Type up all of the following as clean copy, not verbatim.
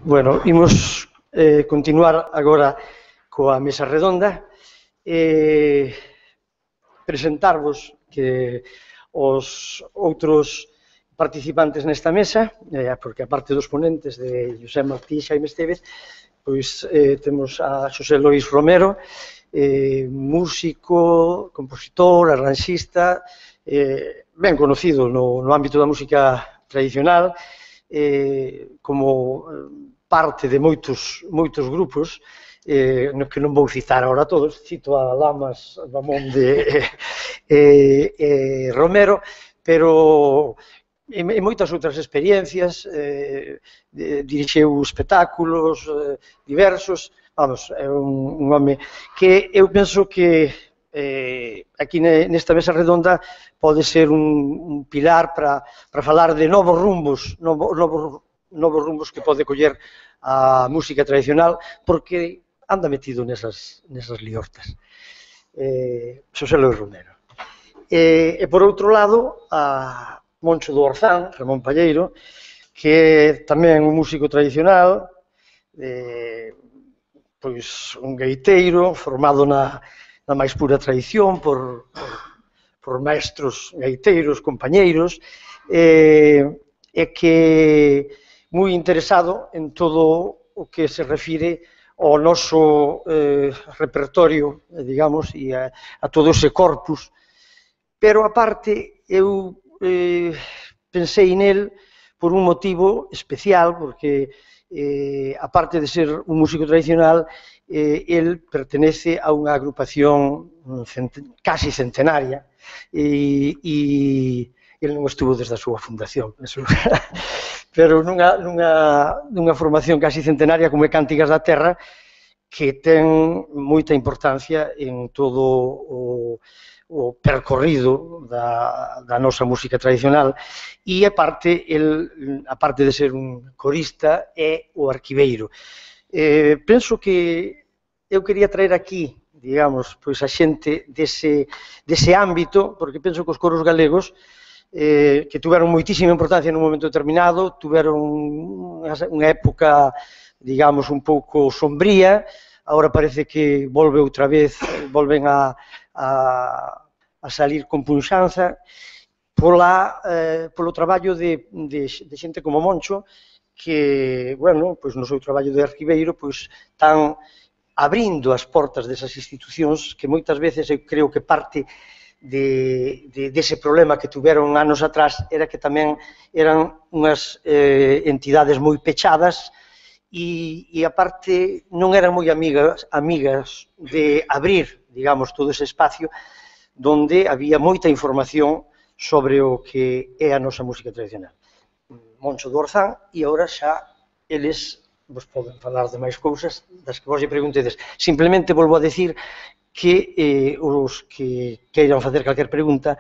Bueno, imos continuar agora coa mesa redonda e presentarvos que os outros participantes nesta mesa, porque a parte dos ponentes de José Martí e Xaime Estévez, pois temos a Xosé Lois Romero, músico, compositor, arranxista, ben conocido no ámbito da música tradicional, como parte de moitos grupos, que non vou citar agora todos, cito a Lamas, Ramón de Romero, pero en moitas outras experiencias, dirixeu espectáculos diversos, vamos, é un home que eu penso que aquí nesta mesa redonda pode ser un pilar para falar de novos rumbos que pode coller a música tradicional, porque anda metido nesas liortas. Xosé Lois Romero. E por outro lado, a Moncho do Orzán, Ramón Palleiro, que é tamén un músico tradicional, pois un gaiteiro formado na máis pura tradición por maestros gaiteiros, compañeiros, e que moi interesado en todo o que se refire ao noso repertorio, digamos, e a todo ese corpus. Pero, aparte, eu pensei nel por un motivo especial, porque, aparte de ser un músico tradicional, el pertenece a unha agrupación casi centenaria, e el non estuvo desde a súa fundación, pero nunha formación casi centenaria como é Cántigas da Terra, que ten moita importancia en todo o percorrido da nosa música tradicional, e aparte de ser un corista, é o arquiveiro. Penso que eu quería traer aquí, digamos, pois a xente dese ámbito, porque penso que os coros galegos, que tuveron moitísima importancia nun momento determinado, tuveron unha época, digamos, un pouco sombría, agora parece que volven a salir con punxanza polo traballo de xente como Moncho, que, bueno, pois no seu traballo de arquiveiro, pois están abrindo as portas desas institucións que moitas veces eu creo que parte dese problema que tuveron anos atrás era que tamén eran unhas entidades moi pechadas e aparte non eran moi amigas de abrir, digamos, todo ese espacio donde había moita información sobre o que é a nosa música tradicional. Moncho do Orzán, e agora xa eles vos poden falar de máis cousas das que vos lle preguntedes. Simplemente volvo a decir que os que queiran facer calquer pregunta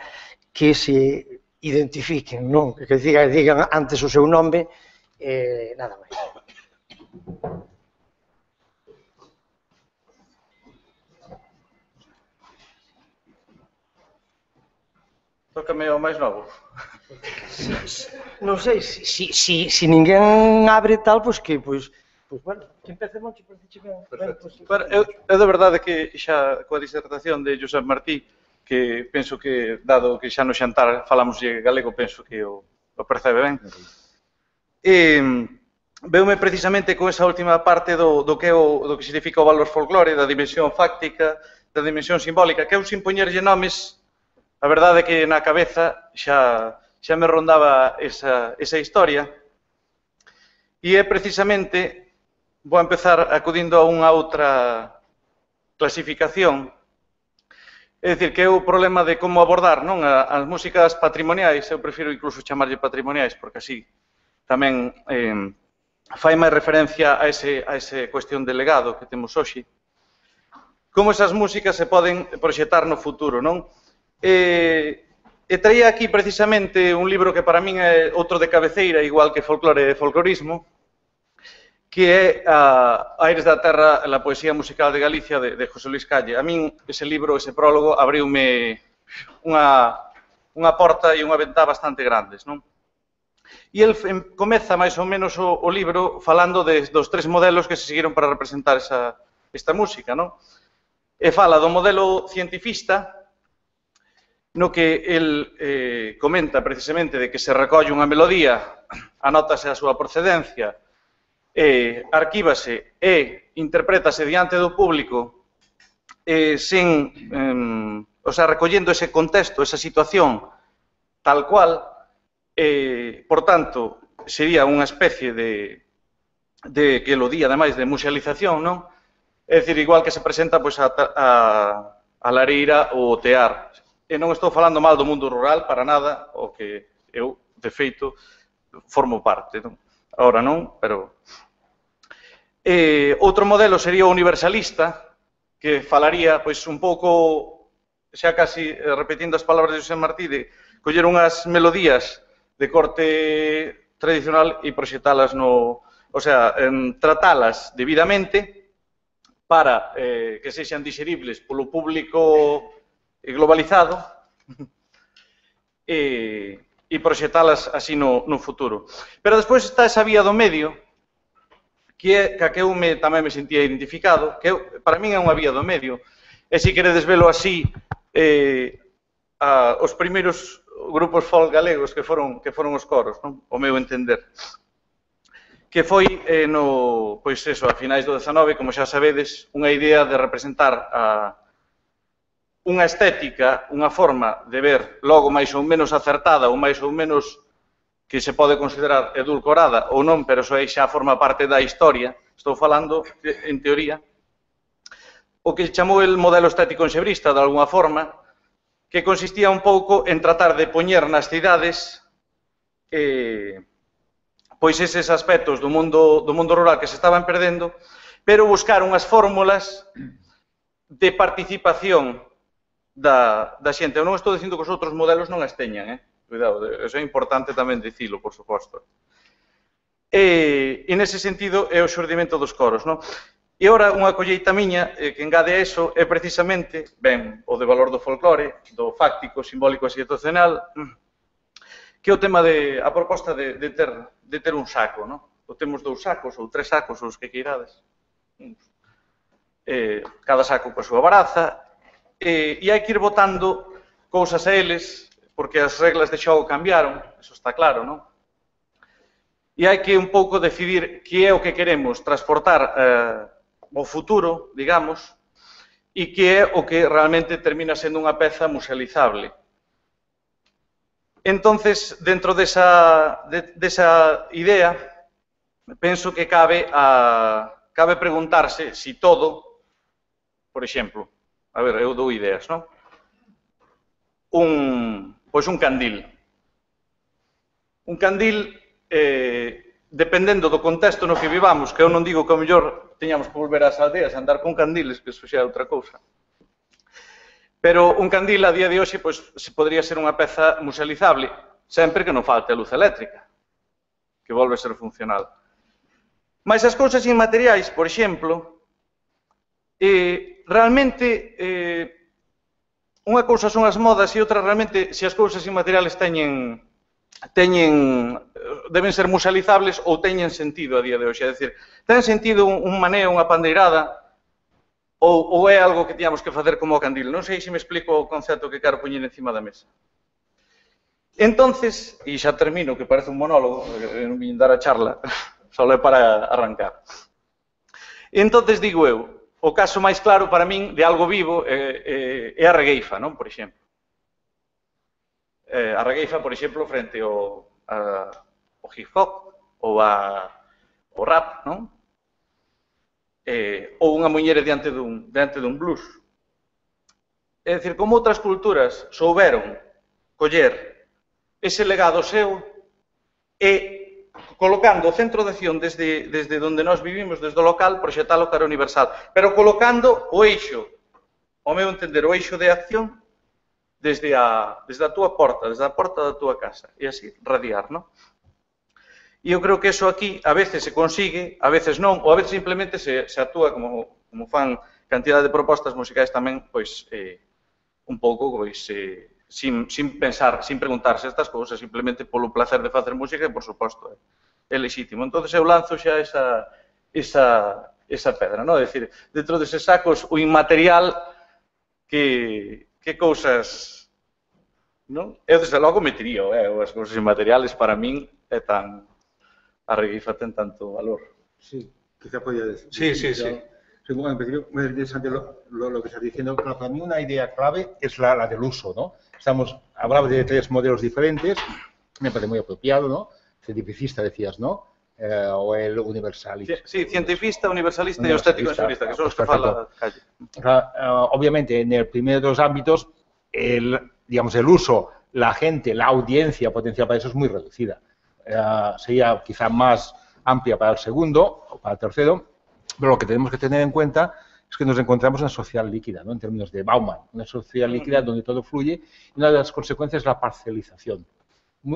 que se identifiquen, non? Que digan antes o seu nome, nada máis. Tócame o máis novo. Non sei, se ninguén abre tal, pois que, bueno, que empece Moncho, parece ben. É de verdade que xa coa disertación de José Martí, que penso que, dado que xa no xantar falamos galego, penso que o percebe ben. Veume precisamente con esa última parte do que significa o valor folclore, da dimensión fáctica, da dimensión simbólica, que eu sin poñerlle nomes, a verdade é que na cabeza xa me rondaba esa historia, e é precisamente, vou empezar acudindo a unha outra clasificación, é dicir, que é o problema de como abordar as músicas patrimoniais, eu prefiro incluso chamarlle patrimoniais, porque así tamén fai máis referencia a ese cuestión de legado que temos hoxe, como esas músicas se poden proxectar no futuro, non? E traía aquí precisamente un libro que para min é outro de cabeceira, igual que Folclore e Folclorismo, que é Aires da Terra, a poesía musical de Galicia, de José Luis Calle. A min ese libro, ese prólogo, abriume unha porta e unha ventá bastante grandes, non? E el comeza máis ou menos o libro falando dos tres modelos que se seguiron para representar esta música, non? E fala do modelo cientifista, no que el comenta precisamente de que se recolle unha melodía, anótase a súa procedencia, arquívase e interprétase diante do público recollendo ese contexto, esa situación tal cual, por tanto, sería unha especie de que lo di, ademais, de musealización, non? É dicir, igual que se presenta a lareira ou o tear. E non estou falando mal do mundo rural, para nada, o que eu, de feito, formo parte, non? Ahora non, pero... Outro modelo sería o universalista, que falaría, pois, un pouco, xa casi repetindo as palabras de José Martí, de coller unhas melodías de corte tradicional e proxectalas o sea, tratalas debidamente para que sexan digeribles polo público globalizado e proxectalas así no futuro. Pero despois está esa vía do medio, que eu tamén me sentía identificado, que para min é unha vía do medio, e se queredes velo así, os primeiros grupos folk galegos que foron os coros, non? O meu entender. Que foi, pois eso, a finais do 19, como xa sabedes, unha idea de representar unha estética, unha forma de ver logo máis ou menos acertada ou máis ou menos que se pode considerar edulcorada ou non, pero iso aí xa forma parte da historia, estou falando, en teoría, o que chamou el modelo estético enxebrista, de alguna forma, que consistía un pouco en tratar de poñer nas cidades pois eses aspectos do mundo rural que se estaban perdendo, pero buscar unhas fórmulas de participación da xente. Eu non estou dicindo que os outros modelos non as teñan, cuidado, eso é importante tamén dicilo, por suposto. E nese sentido é o xurdimento dos coros, non? E ora, unha colleita miña que engade a eso é precisamente, ben, o de valor do folclore, do fáctico, simbólico e situacional, que é o tema a proposta de ter un saco, non? Ou temos 2 sacos, ou 3 sacos, os que queirades. Cada saco coa súa baraza, e hai que ir botando cousas a eles, porque as reglas de xogo cambiaron, eso está claro, non? E hai que un pouco decidir que é o que queremos transportar ao futuro, digamos, e que é o que realmente termina sendo unha peza musealizable. Entonces, dentro desa idea, penso que cabe preguntarse si todo, por exemplo, a ver, eu dou ideas, non? Pois un candil. Un candil, dependendo do contexto no que vivamos, que eu non digo que ao mellor teñamos que volver ás aldeas a andar con candiles, que iso xa é outra cousa. Pero un candil a día de hoxe podría ser unha peza musealizable, sempre que non falte a luz eléctrica, que volve a ser funcional. Mais as cousas inmateriais, por exemplo, realmente unha cousa son as modas e outra realmente se as cousas inmateriales deben ser musealizables ou teñen sentido a día de hoxe. É dicir, ten sentido un maneo, unha pandeirada, ou é algo que tiñamos que facer como o candil? Non sei se me explico o concepto que quero poñer encima da mesa. Entonces, e xa termino, que parece un monólogo, non vim dar a charla, só é para arrancar. Entonces, digo eu, o caso máis claro para min de algo vivo é a regueifa, non? Por exemplo. A regueifa, por exemplo, frente ao hip-hop ou ao rap, non? Ou unha muñeira diante dun blues. É dicir, como outras culturas souberon coller ese legado seu e colocando o centro de acción desde onde nós vivimos, desde o local, proxectalo cara universal, pero colocando o eixo, ao meu entender, o eixo de acción desde a túa porta, desde a porta da túa casa, e así radiar, non? E eu creo que eso aquí a veces se consigue, a veces non, ou a veces simplemente se actúa como fan cantidad de propostas musicais tamén, pois, un pouco, pois, sin pensar, sin preguntarse estas cousas, simplemente polo placer de facer música e, por suposto, é lexítimo. Entón, eu lanzo xa esa pedra, non? É dicir, dentro deses sacos, o inmaterial, que cousas, non? Eu, desde logo, metería, as cousas inmateriales, para min, é tan... A reguifa ten tanto valor. Sí, quizá podría decir. Sí. Bueno, en principio, muy interesante lo que estás diciendo. Claro, para mí una idea clave es la del uso, ¿no? Hablaba de 3 modelos diferentes, me parece muy apropiado, ¿no? Cientificista decías, ¿no? O el universalista. Sí, cientifista, universalista y estético naturalista, que son los que fala Calle. Obviamente, en el primer de los ámbitos, el uso, la gente, la audiencia potencial para eso es muy reducida. Sería quizá más amplia para el segundo o para el tercero, pero lo que tenemos que tener en cuenta es que nos encontramos en una sociedad líquida, ¿no? En términos de Bauman, una sociedad líquida donde todo fluye, y una de las consecuencias es la parcialización.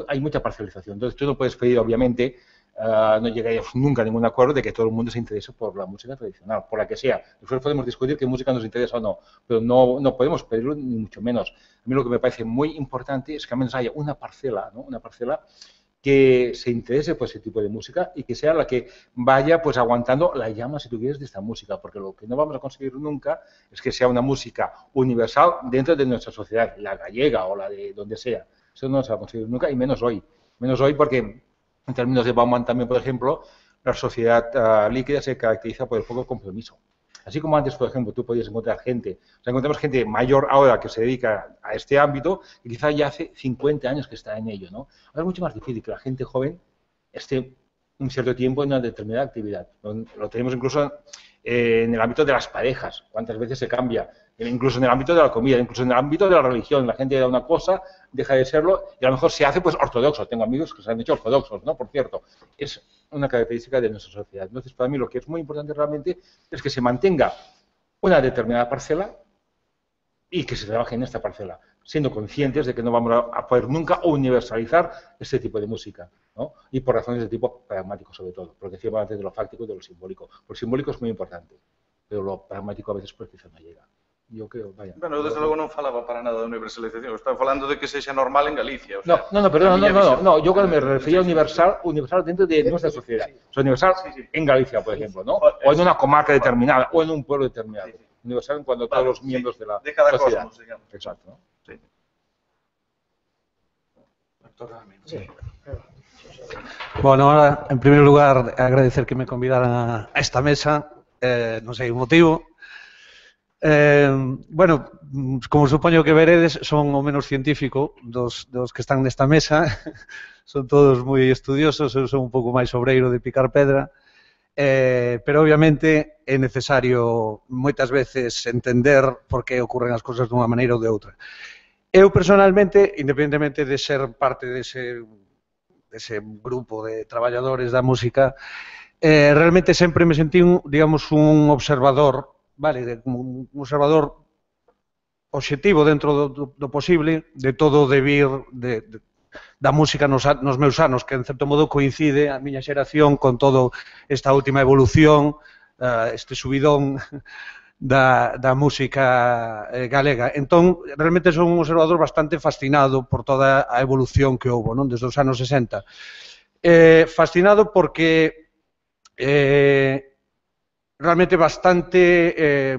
Hay mucha parcialización. Entonces, tú no puedes pedir, obviamente, no llegaríamos nunca a ningún acuerdo de que todo el mundo se interese por la música tradicional, por la que sea. Nosotros podemos discutir qué música nos interesa o no, pero no podemos pedirlo ni mucho menos. A mí lo que me parece muy importante es que al menos haya una parcela, ¿no? Una parcela que se interese por ese tipo de música y que sea la que vaya pues aguantando la llama, si tú quieres, de esta música, porque lo que no vamos a conseguir nunca es que sea una música universal dentro de nuestra sociedad, la gallega o la de donde sea. Eso no se va a conseguir nunca, y menos hoy porque en términos de Bauman también, por ejemplo, la sociedad líquida se caracteriza por el poco compromiso. Así como antes, por ejemplo, tú podías encontrar gente, encontramos gente mayor ahora que se dedica a este ámbito y quizá ya hace 50 años que está en ello, ¿no? Ahora es mucho más difícil que la gente joven esté un cierto tiempo en una determinada actividad. Lo tenemos incluso en el ámbito de las parejas, cuántas veces se cambia, incluso en el ámbito de la comida, incluso en el ámbito de la religión. La gente da una cosa, deja de serlo y a lo mejor se hace pues ortodoxo. Tengo amigos que se han hecho ortodoxos, ¿no? Por cierto, es una característica de nuestra sociedad. Entonces, para mí lo que es muy importante realmente es que se mantenga una determinada parcela y que se trabaje en esta parcela, siendo conscientes de que no vamos a poder nunca universalizar este tipo de música, ¿no? Y por razones de tipo pragmático sobre todo, porque decíamos antes de lo fáctico y de lo simbólico. Lo simbólico es muy importante, pero lo pragmático a veces pues quizá no llega. Yo creo, vaya. Bueno, eu desde logo non falaba para nada de universalización, estaba falando de que sexa normal en Galicia. O sea, no, yo cuando me refería a universal dentro de nuestra sociedad. O sea, universal en Galicia, por ejemplo, ¿no? O en una comarca determinada, o en un pueblo determinado. Universal en cuanto a todos los miembros de la cada sociedad. Cosmos, digamos. Exacto, ¿no? Sí. Sí. Bueno, ahora, en primer lugar, agradecer que me convidaran a esta mesa, non sei o motivo. Bueno, como supoño que veredes, son o menos científico dos que están nesta mesa. Son todos moi estudiosos, eu son un pouco máis obreiro de picar pedra, pero obviamente é necesario moitas veces entender por que ocorren as cousas dunha maneira ou de outra. Eu, personalmente, independentemente de ser parte dese grupo de traballadores da música, realmente sempre me sentí, digamos, un observador, vale, un observador obxectivo dentro do posible de todo o devir da música nos meus anos, que en certo modo coincide a miña xeración con toda esta última evolución, este subidón da música galega. Entón, realmente son un observador bastante fascinado por toda a evolución que houve, non? Desde os anos 60. Fascinado porque realmente bastante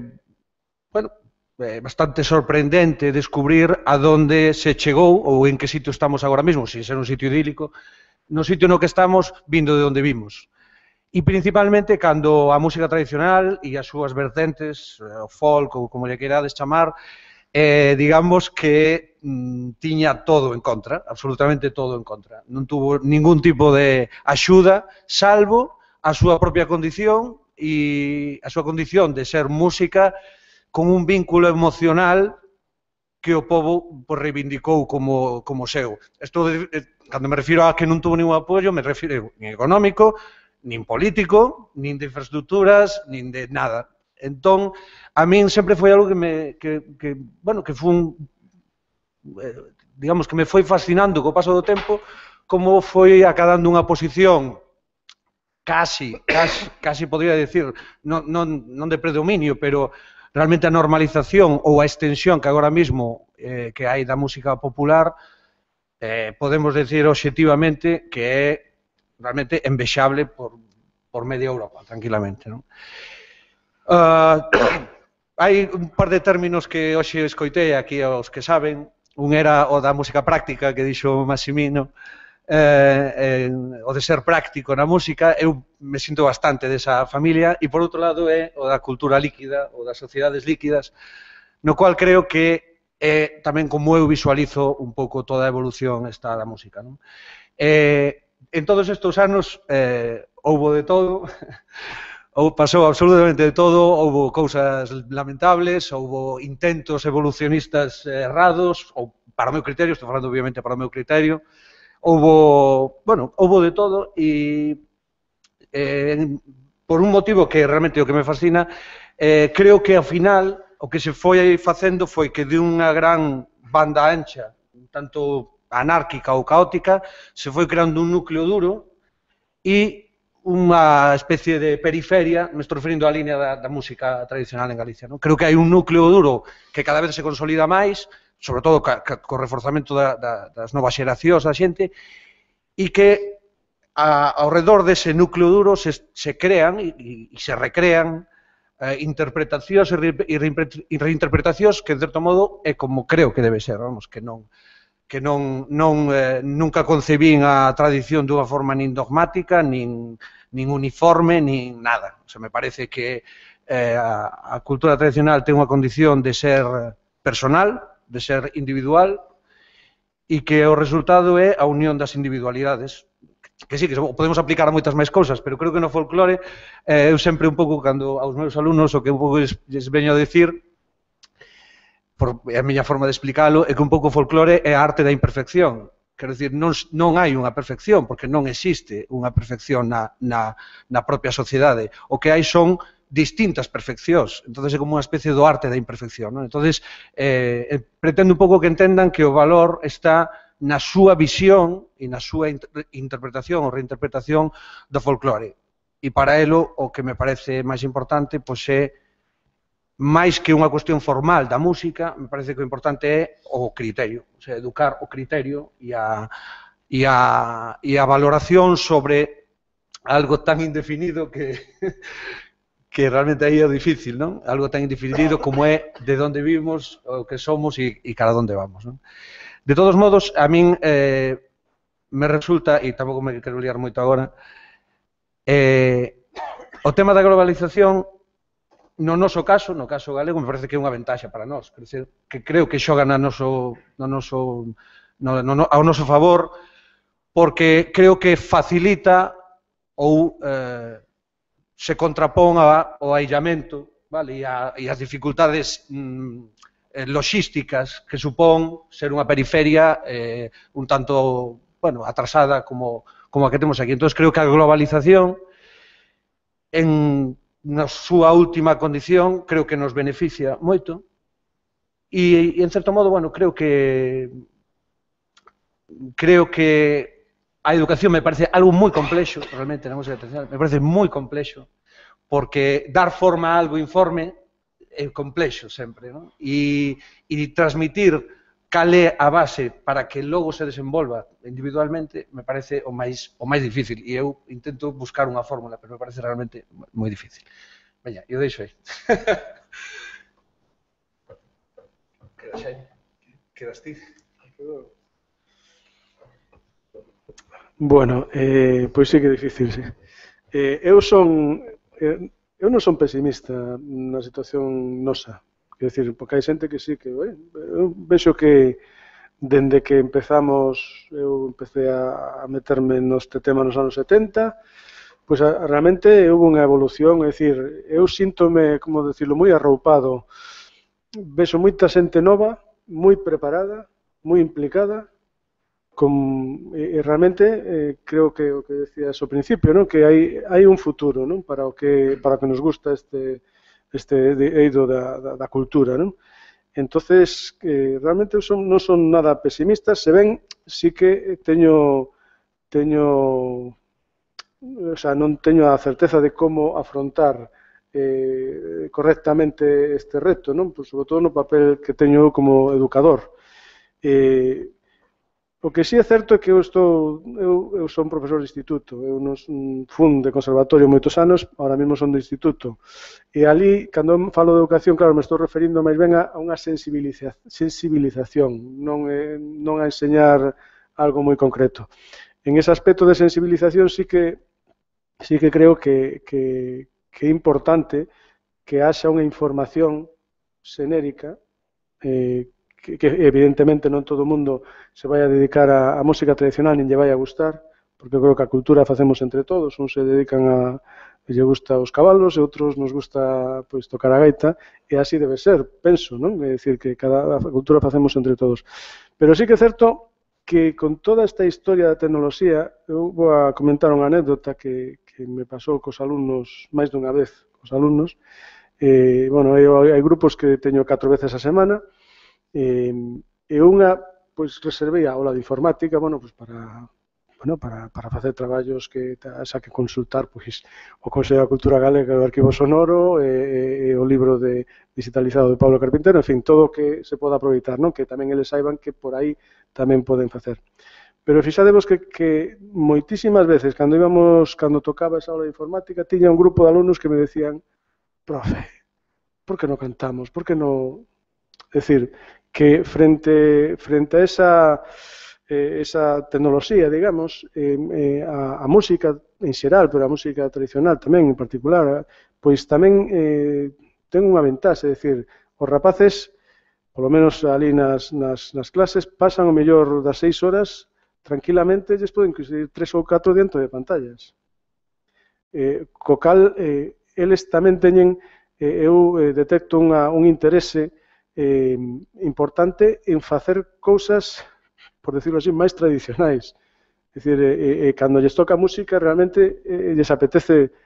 sorprendente descubrir a donde se chegou ou en que sitio estamos agora mesmo, sin ser un sitio idílico, no sitio no que estamos vindo de onde vimos. E principalmente cando a música tradicional e as súas vertentes, o folk ou como lle queirades chamar, digamos que tiña todo en contra, absolutamente todo en contra. Non tuvo ningún tipo de axuda, salvo a súa propia condición e a súa condición de ser música con un vínculo emocional que o povo reivindicou como seu. Cando me refiro a que non tuvo ningún apoio, me refiro nin económico, nin político, nin de infraestructuras, nin de nada. Entón, a min sempre foi algo que foi digamos, que me foi fascinando co paso do tempo, como foi acadando unha posición casi podría decir, non de predominio, pero realmente a normalización ou a extensión que agora mesmo que hai da música popular podemos decir obxectivamente que é realmente envexable por media Europa, tranquilamente, non? Hai un par de términos que hoxe escoitei aquí aos que saben. Un era o da música práctica que dixo Massimino, o de ser práctico na música. Eu me sinto bastante desa familia, e por outro lado é o da cultura líquida, ou das sociedades líquidas, no cual creo que é tamén como eu visualizo un pouco toda a evolución esta da música, non? En todos estes anos houbo de todo, pasou absolutamente de todo, houbo cousas lamentables, houbo intentos evolucionistas errados, ou para o meu criterio, estou falando obviamente para o meu criterio, houbo de todo, e por un motivo que realmente o que me fascina, creo que ao final o que se foi facendo foi que de unha gran banda ancha, tanto anárquica ou caótica, se foi creando un núcleo duro e unha especie de periferia, me estou referindo á línea da música tradicional en Galicia, non? Creo que hai un núcleo duro que cada vez se consolida máis, sobre todo co reforzamento das novas xeracións da xente, e que ao redor dese núcleo duro se crean e se recrean interpretacións e reinterpretacións que, de certo modo, é como creo que debe ser, vamos, que nunca concebín a tradición dunha forma nin dogmática, nin uniforme, nin nada. O sea, me parece que a cultura tradicional ten unha condición de ser personal, de ser individual, e que o resultado é a unión das individualidades, que sí, que podemos aplicar a moitas máis cousas, pero creo que no folclore, eu sempre un pouco, cando aos meus alumnos, o que un pouco lles veño a decir, é a miña forma de explicalo, é que un pouco o folclore é a arte da imperfección. Quero dicir, non hai unha perfección, porque non existe unha perfección na propia sociedade. O que hai son distintas perfeccións. Entón, é como unha especie do arte da imperfección, non? Entón, pretendo un pouco que entendan que o valor está na súa visión e na súa interpretación ou reinterpretación do folclore. E para elo, o que me parece máis importante, pois é máis que unha cuestión formal da música, me parece que o importante é o criterio, o sea, educar o criterio e a valoración sobre algo tan indefinido que realmente aí é difícil, non? Algo tan indefinido como é de onde vivimos, o que somos e cara onde vamos, non? De todos modos, a min me resulta, e tampouco me quero liar moito agora, o tema da globalización, no noso caso, no caso galego, me parece que é unha ventaxa para nós. Que creo que xoga ao noso favor, porque creo que facilita ou se contrapón ao aillamento, e as dificultades logísticas que supón ser unha periferia un tanto atrasada como a que temos aquí. Entón, creo que a globalización na súa última condición, creo que nos beneficia moito e, en certo modo, creo que a educación me parece algo moi complexo, realmente, na música tradicional, me parece moi complexo, porque dar forma a algo informe é complexo sempre, non? E transmitir cal é a base para que logo se desenvolva individualmente me parece o máis difícil, e eu intento buscar unha fórmula, pero me parece realmente moi difícil. Veña, eu deixo aí. Quedas ti? Bueno, pois sí que é difícil, sí. Eu non son pesimista na situación nosa. Quer dicir, porque hai xente que sí que... Eu vexo que dende que empezamos, eu empecé a meterme neste tema nos anos 70, pois realmente houve unha evolución, é dicir, eu síntome, como decirlo, moi arroupado. Vexo moita xente nova, moi preparada, moi implicada, e realmente creo que o que decías ao principio, non? Que hai un futuro, non? Para o que nos gusta este eido da cultura, non? Entonces, realmente non son nada pesimista, se ven, sí que o sea, non teño a certeza de como afrontar correctamente este reto, non? Pois, sobre todo no papel que teño como educador. O que sí é certo é que eu son profesor de instituto, eu non fun de conservatorio moitos anos, ahora mesmo son de instituto. E ali, cando falo de educación, claro, me estou referindo máis ben a unha sensibilización, non a enseñar algo moi concreto. En ese aspecto de sensibilización sí que creo que é importante que haxa unha información xenérica que evidentemente non todo o mundo se vai a dedicar a música tradicional nin lle vai a gustar, porque eu creo que a cultura facemos entre todos, uns se dedican lle gusta os cabalos e outros nos gusta pois tocar a gaita, e así debe ser, penso, non? É dicir, que a cultura facemos entre todos. Pero sí que é certo que con toda esta historia da tecnoloxía, eu vou a comentar unha anécdota que me pasou cos alumnos máis dunha vez, cos alumnos. Bueno, hai grupos que teño 4 veces a semana, e unha, pois, reservei a aula de informática, bueno, pois, para facer traballos que xa que consultar, pois, o Consello da Cultura Galega do Arquivo Sonoro e o libro digitalizado de Pablo Carpintero, en fin, todo o que se poda aproveitar, non? Que tamén eles saiban que por aí tamén poden facer. Pero fixadevos que moitísimas veces, cando tocaba esa aula de informática, tiña un grupo de alumnos que me decían: profe, por que non cantamos? Por que non... É dicir, que frente a esa tecnoloxía, digamos, a música en xeral, pero a música tradicional tamén en particular, pois tamén ten unha ventaxe, é dicir, os rapaces, polo menos ali nas clases, pasan o mellor das 6 horas tranquilamente, lles poden coincidir 3 ou 4 dentro de pantallas. Co cal, eles tamén teñen, eu detecto un interese importante en facer cousas, por decirlo así, máis tradicionais. É dicir, cando lles toca música, realmente lles apetece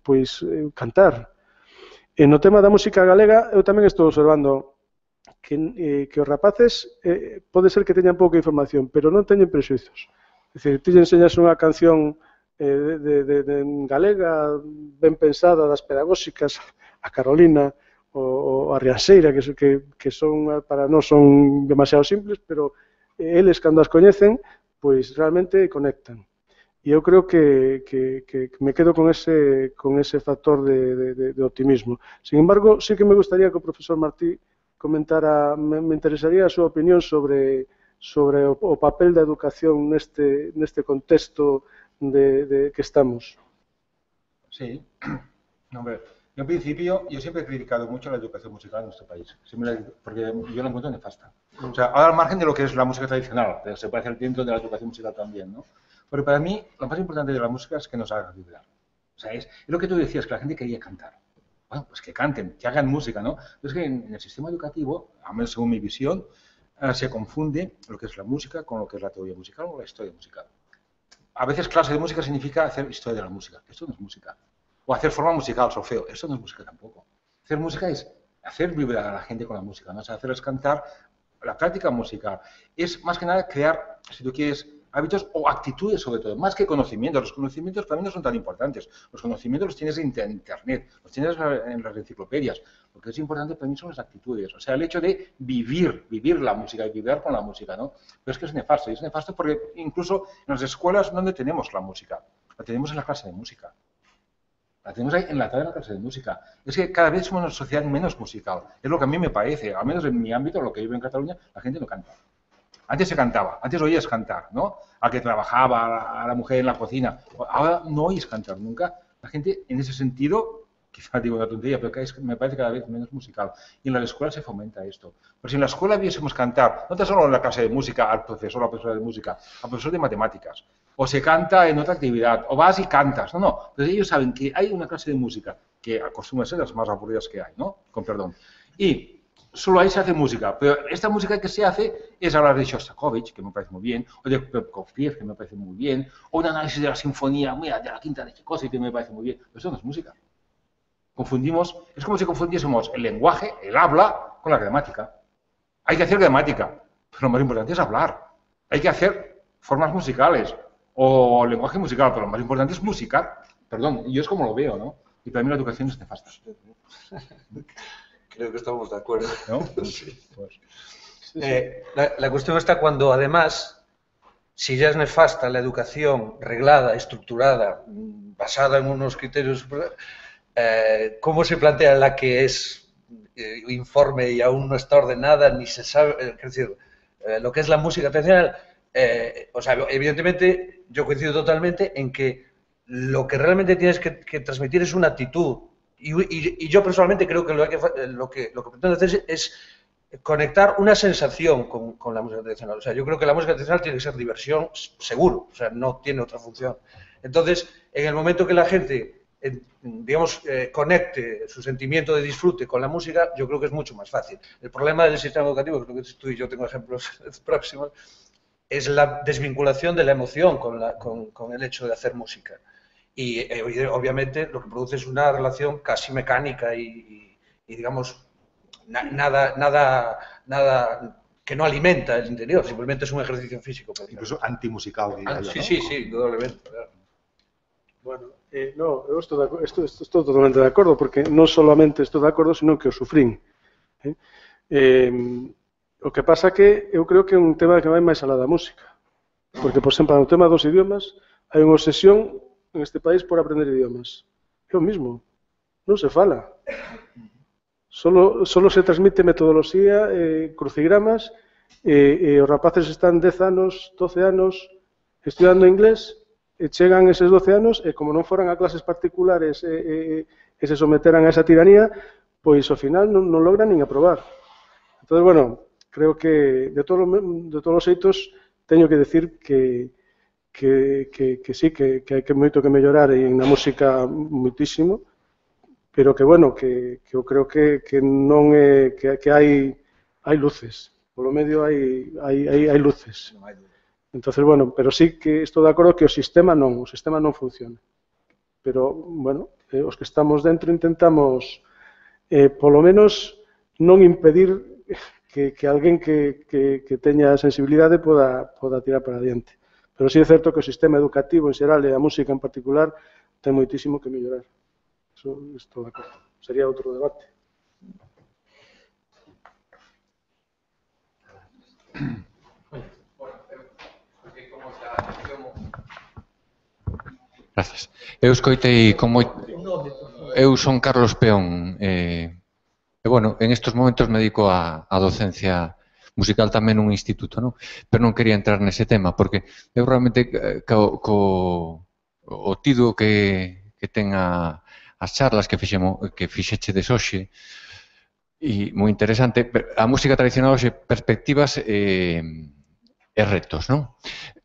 pois cantar. E no tema da música galega, eu tamén estou observando que os rapaces pode ser que teñan pouca información, pero non teñen prexuizos. É dicir, ti lle enseñas unha canción de galega ben pensada, das pedagóxicas, a Carolina, ou a Rianxeira, que son, para nós son demasiado simples, pero eles, cando as coñecen, pois realmente conectan. E eu creo que me quedo con ese factor de optimismo. Sin embargo, sí que me gustaría que o profesor Martí comentara, me interesaría a súa opinión sobre o papel da educación neste contexto de que estamos. Sí, hombre. En principio, yo siempre he criticado mucho la educación musical en nuestro país, porque yo la encuentro nefasta. O sea, ahora al margen de lo que es la música tradicional, pero se puede hacer dentro de la educación musical también, ¿no? Pero para mí, lo más importante de la música es que nos haga vibrar. O sea, es lo que tú decías, que la gente quería cantar. Bueno, pues que canten, que hagan música, ¿no? Pero es que en el sistema educativo, al menos según mi visión, se confunde lo que es la música con lo que es la teoría musical o la historia musical. A veces clase de música significa hacer historia de la música. Esto no es música. O hacer forma musical, solfeo. Eso no es música tampoco. Hacer música es hacer vibrar a la gente con la música, ¿no? O sea, hacerles cantar. La práctica musical es más que nada crear, si tú quieres, hábitos o actitudes sobre todo, más que conocimientos. Los conocimientos para mí no son tan importantes. Los conocimientos los tienes en Internet, los tienes en las enciclopedias. Lo que es importante para mí son las actitudes. O sea, el hecho de vivir la música y vibrar con la música, ¿no? Pero es que es nefasto. Y es nefasto porque incluso en las escuelas donde tenemos la música, la tenemos en la clase de música. La tenemos ahí enlatada en la clase de música. Es que cada vez somos una sociedad menos musical. Es lo que a mí me parece. Al menos en mi ámbito, lo que vivo en Cataluña, la gente no canta. Antes se cantaba, antes oías cantar, ¿no? Al que trabajaba, a la mujer en la cocina. Ahora no oyes cantar nunca. La gente, en ese sentido, quizá digo una tontería, pero me parece cada vez menos musical. Y en la escuela se fomenta esto. Pero si en la escuela viésemos cantar, no tan solo en la clase de música, al profesor o a la profesora de música, al profesor de matemáticas, o se canta en otra actividad, o vas y cantas, no. Pero ellos saben que hay una clase de música, que acostumbra a ser las más aburridas que hay, ¿no? Con perdón. Y solo ahí se hace música, pero esta música que se hace es hablar de Shostakovich, que me parece muy bien, o de Prokofiev, que me parece muy bien, o un análisis de la sinfonía, mira, de la quinta de Tchaikovsky, que me parece muy bien. Pero eso no es música. Confundimos, es como si confundiésemos el lenguaje, el habla, con la gramática. Hay que hacer gramática, pero lo más importante es hablar. Hay que hacer formas musicales o lenguaje musical, pero lo más importante es musicar. Perdón, yo es como lo veo, ¿no? Y para mí la educación es nefasta. Creo que estamos de acuerdo. ¿No? Sí. Pues. La cuestión está cuando, además, si ya es nefasta la educación reglada, estructurada, basada en unos criterios, ¿cómo se plantea la que es informe y aún no está ordenada, ni se sabe? Es decir, lo que es la música tradicional, o sea, evidentemente yo coincido totalmente en que lo que realmente tienes que transmitir es una actitud. Y yo personalmente creo que lo que pretendo hacer es conectar una sensación con la música tradicional. O sea, yo creo que la música tradicional tiene que ser diversión, seguro, o sea, no tiene otra función. Entonces, en el momento que la gente, digamos, conecte su sentimiento de disfrute con la música, yo creo que es mucho más fácil. El problema del sistema educativo, creo que tú y yo tengo ejemplos próximos, es la desvinculación de la emoción con el hecho de hacer música. Y obviamente lo que produce es una relación casi mecánica y digamos, nada que no alimenta el interior, simplemente es un ejercicio físico. Incluso antimusical, diría yo, ¿no? Sí, indudablemente. Bueno, no, eu estou totalmente de acordo, porque non solamente estou de acordo, sino que o sufrín. O que pasa que eu creo que é un tema que vai máis alá da música. Porque, por exemplo, no tema dos idiomas, hai unha obsesión en este país por aprender idiomas. É o mismo, non se fala. Solo se transmite metodoloxía, crucigramas, e os rapaces están 10 anos, 12 anos estudando inglés, e chegan eses 12 anos, e como non foran a clases particulares e se someteran a esa tiranía, pois ao final non logran nin aprobar. Entón, bueno, creo que de todos os xeitos teño que decir que sí, que hai moito que mellorar na música moitísimo, pero que, bueno, que eu creo que non é, que hai luces, polo medio hai luces. Entonces, bueno, pero sí que estou de acordo que o sistema non funciona. Pero, bueno, os que estamos dentro intentamos, polo menos, non impedir que alguén que teña sensibilidade poda tirar para adiante. Pero sí é certo que o sistema educativo en xeral e a música en particular ten moitísimo que mellorar. Eso estou de acordo. Sería outro debate. Gracias. Eu escoitei como... Eu son Carlos Peón. Bueno, en estos momentos me dedico a docencia musical tamén nun instituto, non? Pero non quería entrar nese tema, porque eu realmente o tido que ten as charlas que fixechedes hoxe, e moi interesante, a música tradicional hoxe, perspectivas e retos, non?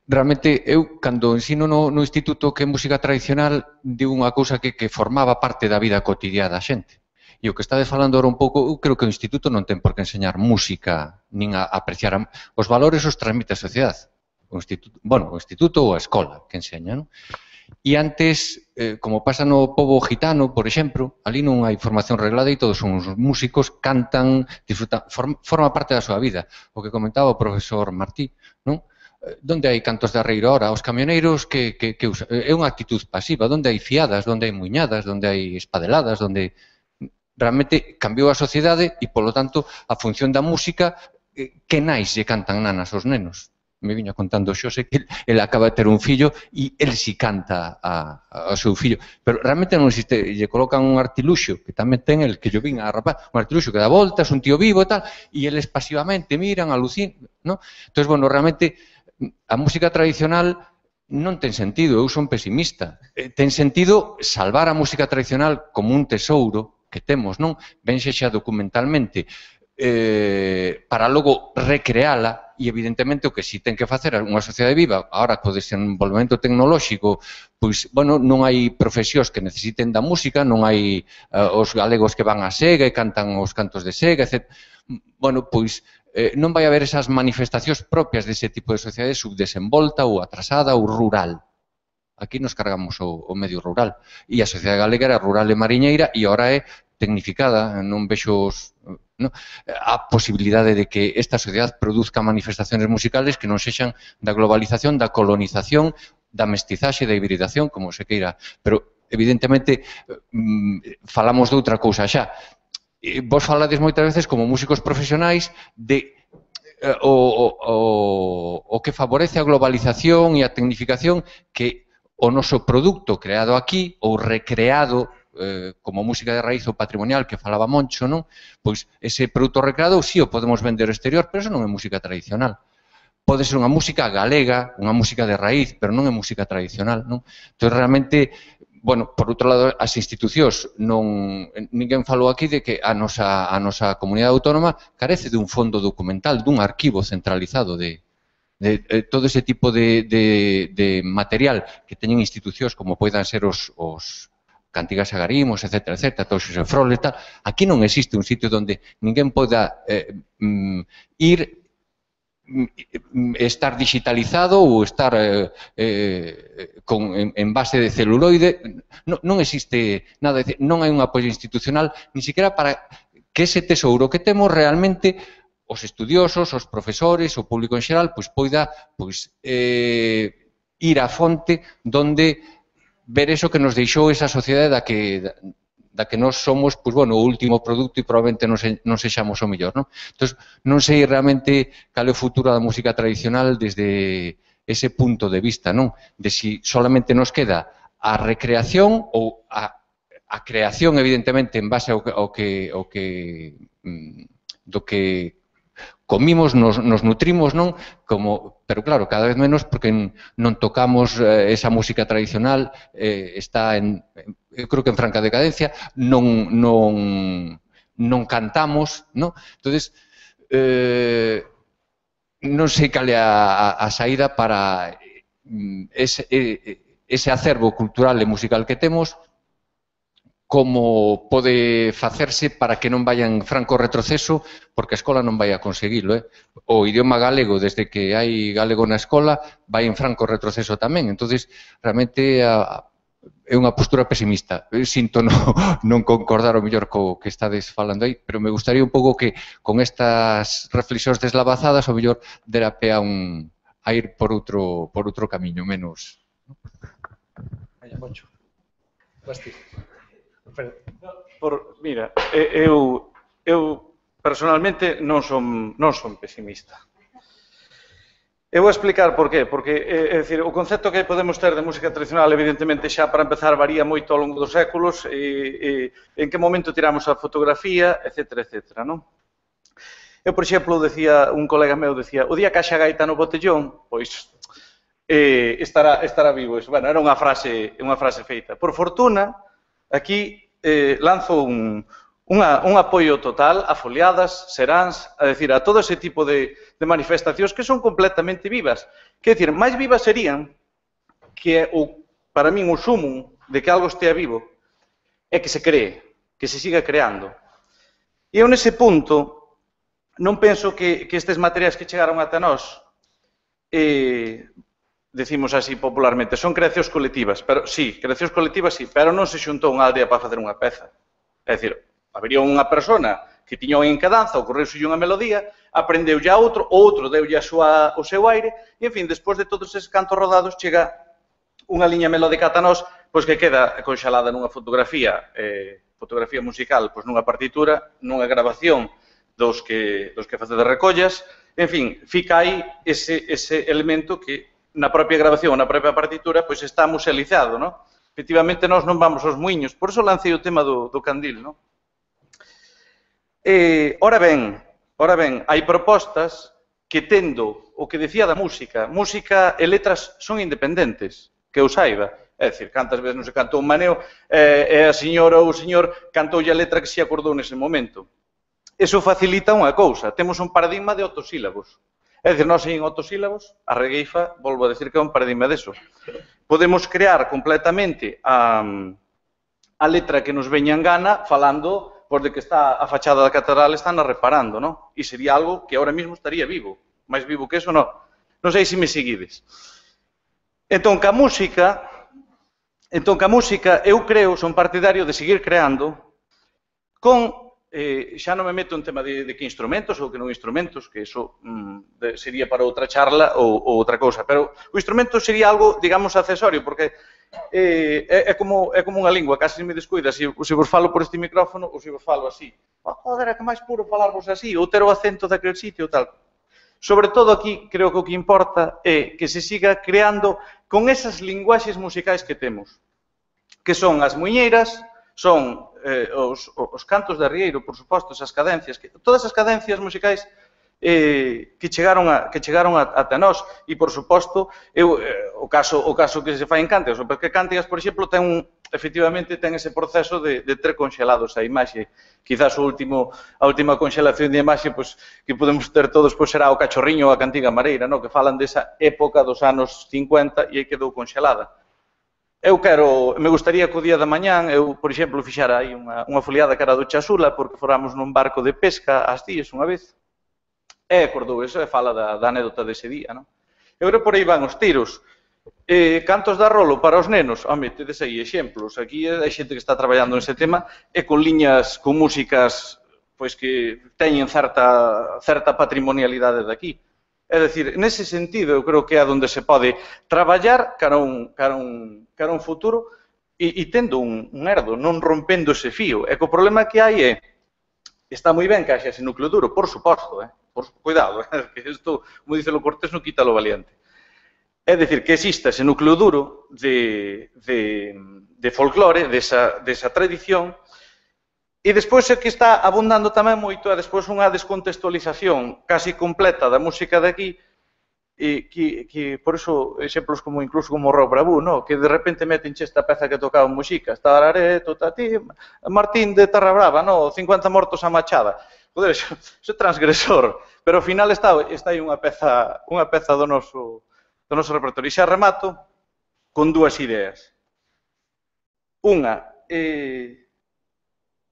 Realmente, eu, cando ensino no instituto que é música tradicional, digo unha cousa que formaba parte da vida cotidiana da xente. E o que estades falando ahora un pouco, eu creo que o instituto non ten por que enseñar música, nin a apreciar os valores os transmite a sociedade. O instituto ou a escola que enseña, non? E antes, como pasa no pobo gitano, por exemplo, ali non hai formación reglada e todos son uns músicos, cantan, disfrutan, forma parte da súa vida. O que comentaba o profesor Martí, non? Donde hai cantos de arreiro ahora? Os camioneiros que usan? É unha actitud pasiva. Donde hai fiadas, donde hai muiñadas, donde hai espadeladas, donde... Realmente cambiou a sociedade e, polo tanto, a función da música, que nais lle cantan nanas aos nenos. Me viña contando Xose que ele acaba de ter un fillo e ele si canta ao seu fillo. Pero realmente non existe, lle colocan un artiluxo, que tamén ten el, que yo vin a rapaz, un artiluxo que dá voltas, un tío vivo e tal, e eles pasivamente miran, alucinan, non? Entón, bueno, realmente, a música tradicional non ten sentido, eu son pesimista. Ten sentido salvar a música tradicional como un tesouro que temos, non? Ben xa documentalmente, para logo recreala e, evidentemente, o que si ten que facer unha sociedade viva, agora co desenvolvemento tecnolóxico, pois, bueno, non hai profesións que necesiten da música, non hai os galegos que van a Sega e cantan os cantos de Sega, etc. Bueno, pois, non vai haber esas manifestacións propias dese tipo de sociedade subdesenvolta ou atrasada ou rural. Aquí nos cargamos o medio rural. E a sociedade galega era rural e mariñeira e agora é tecnificada, non vexo a posibilidade de que esta sociedade produzca manifestaciones musicales que non sexan da globalización, da colonización, da mestizaxe, da hibridación, como se queira. Pero evidentemente, falamos de outra cousa xa. Vos falades moitas veces como músicos profesionais de o que favorece a globalización e a tecnificación que o noso produto creado aquí ou recreado como música de raíz ou patrimonial que falaba Moncho, non? Pois ese produto recreado sí o podemos vender ao exterior, pero eso non é música tradicional. Pode ser unha música galega, unha música de raíz, pero non é música tradicional, non? Entón, realmente, bueno, por outro lado, as institucións, ninguén falou aquí de que a nosa comunidade autónoma carece dun fondo documental, dun arquivo centralizado de todo ese tipo de material que teñen institucións como poidan ser os Cantigas Agarimos, etc., todo Xosé Frole e tal. Aquí non existe un sitio onde ninguén poda ir, estar digitalizado ou estar en base de celuloide. Non existe nada, non hai un apoio institucional, ni siquiera para que ese tesouro que temos realmente os estudiosos, os profesores, o público en xeral, poida ir á fonte donde ver eso que nos deixou esa sociedade da que nós somos, o último produto e probablemente non sexamos o mellor, non? Entón, non sei realmente cal é o futuro da música tradicional desde ese punto de vista, non? De si solamente nos queda a recreación ou a creación, evidentemente, en base ao que comimos, nos nutrimos, non? Pero claro, cada vez menos porque non tocamos esa música tradicional, está eu creo que en franca decadencia, non cantamos, non? Entonces, non sei cal é a saída para ese acervo cultural e musical que temos, como pode facerse para que non vaya en franco retroceso, porque a escola non vai a conseguilo. O idioma galego, desde que hai galego na escola, vai en franco retroceso tamén. Entón, realmente é unha postura pesimista. Sinto non concordar o mellor co que estades falando aí, pero me gustaría un pouco que con estas reflexións deslavazadas o mellor dera pé a ir por outro camiño, menos. Vaya, Moncho. Mira, eu personalmente non son pesimista. Eu vou explicar por qué. Porque, é dicir, o concepto que podemos ter de música tradicional, evidentemente, xa para empezar, varía moito ao longo dos séculos, en que momento tiramos a fotografía, etc., non? Eu, por exemplo, un colega meu decía, o día que haxa gaita no botellón, pois, estará vivo. Bueno, era unha frase feita. Por fortuna, aquí lanzo un apoio total a foliadas, seráns, a decir, a todo ese tipo de manifestacións que son completamente vivas. Quer decir, máis vivas serían que, para min, o sumo de que algo estea vivo é que se cree, que se siga creando. E eu, nese punto, non penso que estes materiais que chegaron ata nós, decimos así popularmente, son creacións colectivas, pero sí, creacións colectivas sí, pero non se xuntou unha aldea para facer unha peza. É dicir, habería unha persona que tiña unha encadanza, ocorreuse unha melodía, aprendeulle a outro deulle o seu aire, e, en fin, despois de todos eses cantos rodados, chega unha liña melódica ata nós, pois que queda conxalada nunha fotografía musical, pois nunha partitura, nunha grabación dos que facedes recollas, en fin, fica aí ese elemento que na propia grabación, na propia partitura, pois está musealizado, non? Efectivamente, nós non vamos aos muiños, por iso lancei o tema do candil, non? Ora ben, hai propostas que tendo o que decía da música e letras son independentes, que eu saiba. É dicir, cantas veces non se cantou un maneo e a señora ou o señor cantoulle a letra que se acordou nese momento. Eso facilita unha cousa, temos un paradigma de autosílabos. É dicir, nós en autosílabos, a regueifa, volvo a decir que é un paradigma deso. Podemos crear completamente a letra que nos veña en gana falando de que está a fachada da catedral están reparando, non? E sería algo que ahora mismo estaría vivo. máis vivo que eso, non. Non sei se me seguides. Entón, ca música, eu creo, son partidario de seguir creando con, xa non me meto en tema de que instrumentos ou que non instrumentos, que iso sería para outra charla ou outra cousa, pero o instrumento sería algo, digamos, accesorio, porque é como unha lingua, casi me descuida, se vos falo por este micrófono ou se vos falo así. Joder, é que máis puro falarvos así, ou ter o acento daquele sitio, tal. Sobre todo aquí, creo que o que importa é que se siga creando con esas linguaxes musicais que temos, que son as muiñeiras, son os cantos de arrieiro, por suposto, esas cadencias, todas as cadencias musicais que chegaron ata nós, e, por suposto, o caso que se fai en Cántigas, porque Cántigas, por exemplo, efectivamente ten ese proceso de ter conxelados a imaxe. Quizás a última conxelación de imaxe que podemos ter todos será o Cachorriño ou a Cantiga Mareira, que falan desa época dos anos 50 e aí quedou conxelada. Me gustaría que o día da mañán, por exemplo, fixara aí unha foliada cara do Chasula, porque foramos nun barco de pesca ás Cíes unha vez, e acordou eso e fala da anécdota dese día. Eu creo que por aí van os tiros. Cantos de Arrolo para os nenos, home, tedes aí exemplos. Aquí hai xente que está traballando nese tema e con liñas, con músicas que teñen certa patrimonialidade daqui. É dicir, nese sentido, eu creo que é onde se pode traballar cara a un futuro e tendo un herdo, non rompendo ese fío. E que o problema que hai está moi ben que haxa ese núcleo duro, por suposto, cuidado, que isto, como dice lo cortés, non quita lo valiente. É dicir, que exista ese núcleo duro de folclore, desa tradición, e despois é que está abundando tamén moito, e despois unha descontextualización casi completa da música de aquí, que por iso, exemplos incluso como o Rock Bravú, que de repente metenche esta peza que tocaba en Muxicas, Tarareto, Tati, Martín de Terra Brava, 50 mortos a machada. Joder, iso é transgresor, pero ao final está aí unha peza do noso repertorio. E xa remato con dúas ideas. Unha,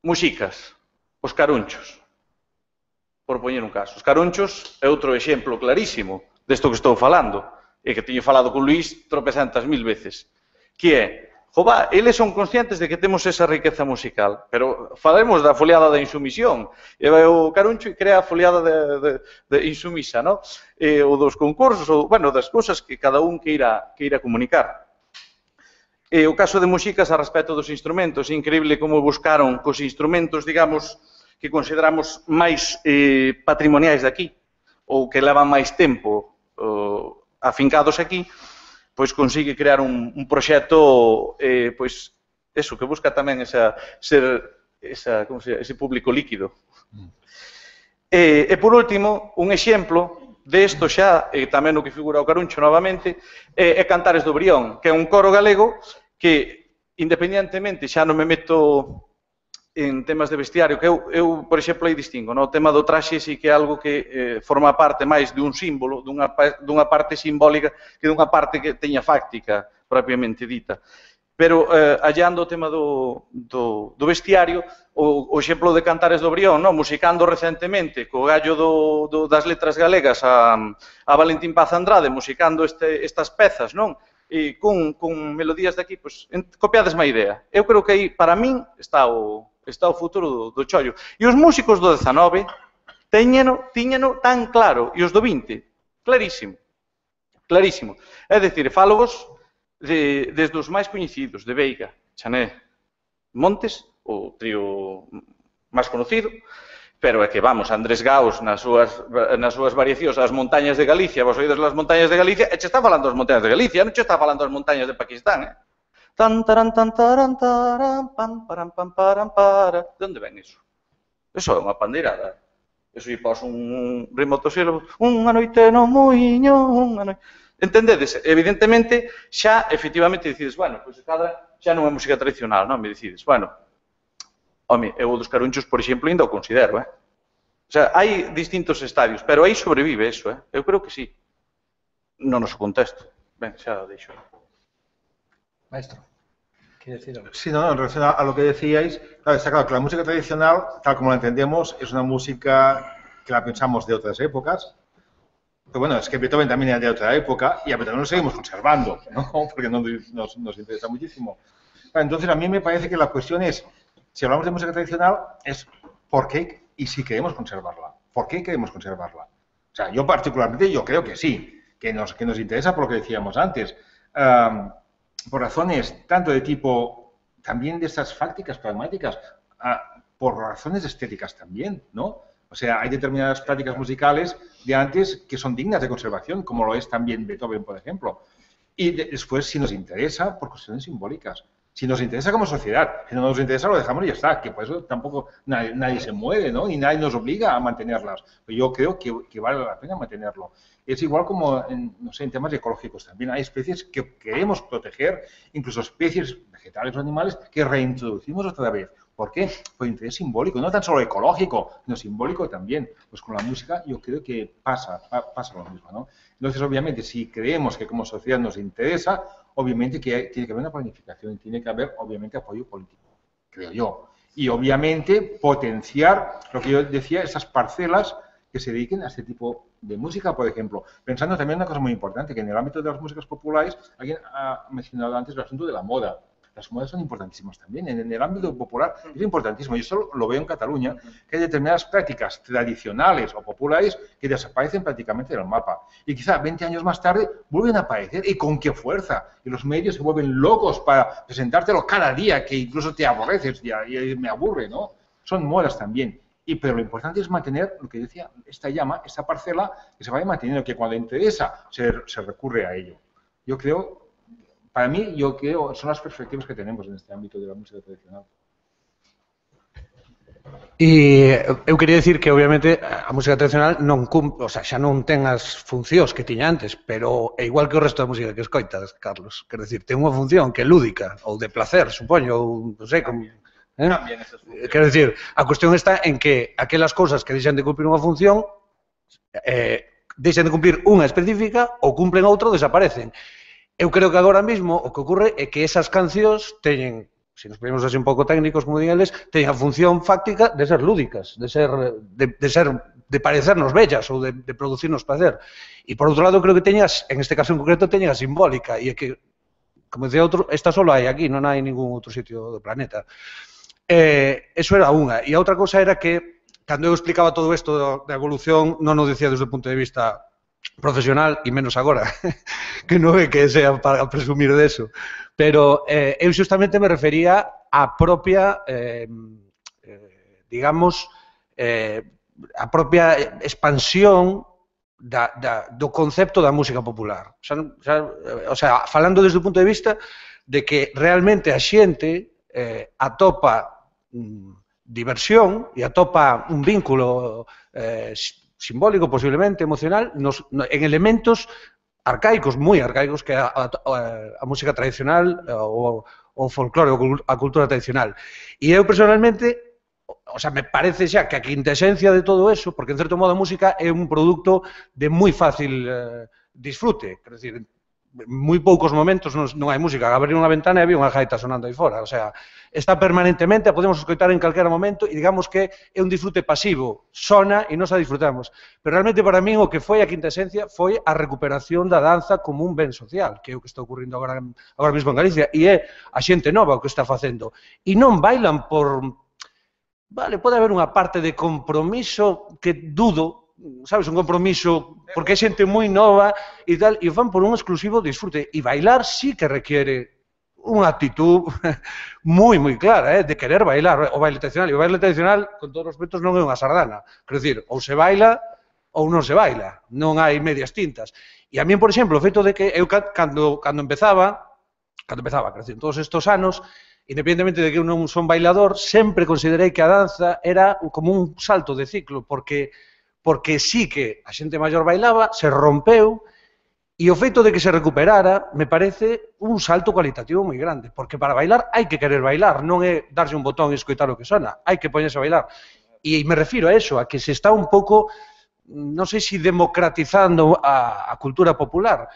Muxicas, os carunchos, por poñer un caso. Os carunchos é outro exemplo clarísimo desto que estou falando, e que teño falado con Luís tropecentas mil veces, que é, eles son conscientes de que temos esa riqueza musical, pero falemos da foliada da insumisión, e vai o caruncho e crea a foliada de insumisa, ou dos concursos, ou, das cousas que cada un queira comunicar. E o caso de Muxicas a respecto dos instrumentos, é increíble como buscaron cos instrumentos, digamos, que consideramos máis patrimoniais daqui, ou que levan máis tempo afincados aquí, pois consigue crear un proxecto, eso, que busca tamén ese público líquido. E por último, un exemplo de isto xa, tamén o que figura o caruncho novamente, é Cantares do Brión, que é un coro galego que, independentemente, xa non me meto en temas de vestiario, que eu por exemplo, aí distingo, o tema do traxe sí que é algo que forma parte máis dun símbolo, dunha parte simbólica, que dunha parte que teña fáctica, propiamente dita. Pero, hallando o tema do vestiario, o exemplo de Cantares do Brión, musicando recentemente, co gallo das letras galegas a Valentín Paz Andrade, musicando estas pezas, e con melodías de aquí, copiades má idea. Eu creo que aí, para min, está o futuro do chollo. E os músicos do 19 tiñeno tan claro, e os do 20, clarísimo. Clarísimo. É dicir, fálogos desde os máis coñecidos, de Veiga, Chané, Montes, o trío máis conocido, pero é que, Andrés Gaos, nas súas variacións, as montañas de Galicia, vos oídes as montañas de Galicia, e che está falando das montañas de Galicia, non che está falando das montañas de Pakistán, Tan taran tan taran taran pam param pam param para. De onde ven iso? Eso é unha pandeirada. Eso lle pos un ritmo autosílabo, unha noite no muiño, unha noite. Entendedes? Evidentemente, xa efectivamente decides, pois xa non é música tradicional, non? Me decides, home, eu dos carunchos, por exemplo, ainda o considero, O sea, hai distintos estadios, pero aí sobrevive eso, Eu creo que sí. No noso contexto. Ben, xa deixo. Maestro, ¿quiere decir algo? Sí, no, en relación a lo que decíais, claro, está claro que la música tradicional, tal como la entendemos, es una música que la pensamos de otras épocas. Pero bueno, es que Beethoven también era de otra época y a Beethoven lo seguimos conservando, ¿no? Porque nos interesa muchísimo. Entonces, a mí me parece que la cuestión es, si hablamos de música tradicional, es por qué y si queremos conservarla. ¿Por qué queremos conservarla? O sea, yo particularmente, yo creo que sí, que nos interesa por lo que decíamos antes. por razones tanto de tipo, también de esas fácticas, pragmáticas, por razones estéticas también, ¿no? O sea, hay determinadas prácticas musicales de antes que son dignas de conservación, como lo es también Beethoven, por ejemplo. Y después, si nos interesa, por cuestiones simbólicas. Si nos interesa como sociedad, si no nos interesa lo dejamos y ya está, que por eso tampoco nadie se mueve, ¿no? Y nadie nos obliga a mantenerlas. Pero yo creo que vale la pena mantenerlo. Es igual como, no sé, en temas ecológicos también. Hay especies que queremos proteger, incluso especies vegetales o animales que reintroducimos otra vez. ¿Por qué? Por interés simbólico, no tan solo ecológico, sino simbólico también. Pues con la música yo creo que pasa lo mismo, ¿no? Entonces, obviamente, si creemos que como sociedad nos interesa, obviamente que tiene que haber una planificación y tiene que haber, obviamente, apoyo político, creo yo. Y, obviamente, potenciar, lo que yo decía, esas parcelas que se dediquen a este tipo de música, por ejemplo. Pensando también en una cosa muy importante, que en el ámbito de las músicas populares, alguien ha mencionado antes el asunto de la moda. Las modas son importantísimas también. En el ámbito popular es importantísimo. Yo solo lo veo en Cataluña, que hay determinadas prácticas tradicionales o populares que desaparecen prácticamente del mapa. Y quizá 20 años más tarde vuelven a aparecer. ¿Y con qué fuerza? Y los medios se vuelven locos para presentártelo cada día, que incluso te aborreces y me aburre, ¿no? Son modas también. Pero lo importante es mantener, lo que decía, esta llama, esta parcela, que se vaya manteniendo, que cuando interesa se recurre a ello. Yo creo... Para mí, yo creo, son las perspectivas que tenemos en este ámbito de la música tradicional. E eu quería dicir que, obviamente, a música tradicional non cumpre, o sea, xa non ten as funcións que tiña antes, pero é igual que o resto da música que escoitas, Carlos. Quero dicir, ten unha función que é lúdica, ou de placer, supoño, ou, non sei, como... Quero dicir, a cuestión está en que aquelas cousas que deixan de cumprir unha función deixan de cumplir unha específica ou cumplen outra ou desaparecen. Eu creo que agora mesmo o que ocorre é que esas cancións teñen, se nos ponemos así un pouco técnicos, como digan eles, teñen a función fáctica de ser lúdicas, de parecernos bellas ou de producirnos placer. E por outro lado, creo que teñas, en este caso en concreto, teñen a simbólica, e é que, como decía outro, esta só hai aquí, non hai ningún outro sitio do planeta. Eso era unha. E a outra cousa era que, cando eu explicaba todo isto da evolución, non o decía desde o punto de vista profesional, e menos agora, que non é que sea para presumir deso, pero eu xustamente me refería á propia, digamos, a propia expansión do concepto da música popular. O sea, falando desde o punto de vista de que realmente a xente atopa diversión e atopa un vínculo simbólico, posiblemente, emocional, en elementos arcaicos, moi arcaicos, que é a música tradicional, o folclore, a cultura tradicional. E eu, personalmente, o sea, me parece xa que a quintesencia de todo eso, porque, en certo modo, a música é un produto de moi fácil disfrute, quer dizer, moi poucos momentos non hai música, abrir unha ventana e había unha gaita sonando aí fora, o sea, está permanentemente, a podemos escoitar en calquera momento e digamos que é un disfrute pasivo, sona e nos a disfrutamos, pero realmente para min o que foi a quinta esencia foi a recuperación da danza como un ben social, que é o que está ocurrindo agora mesmo en Galicia, e é a xente nova o que está facendo, e non bailan por... Vale, pode haber unha parte de compromiso que dudo, sabes, un compromiso, porque é xente moi nova e tal, e fan por un exclusivo disfrute. E bailar sí que requiere unha actitud moi, moi clara, de querer bailar o baile tradicional. E o baile tradicional, con todos os respetos, non é unha sardana. Quero dicir, ou se baila ou non se baila. Non hai medias tintas. E a mí, por exemplo, o feito de que eu, cando empezaba, quero dicir, todos estes anos, independentemente de que eu non son bailador, sempre considerei que a danza era como un salto de ciclo, porque sí que a xente maior bailaba, se rompeu, e o feito de que se recuperara me parece un salto cualitativo moi grande, porque para bailar hai que querer bailar, non é darse un botón e escoitar o que sona, hai que poñerse a bailar. E me refiro a eso, a que se está un pouco, non sei se democratizando a cultura popular.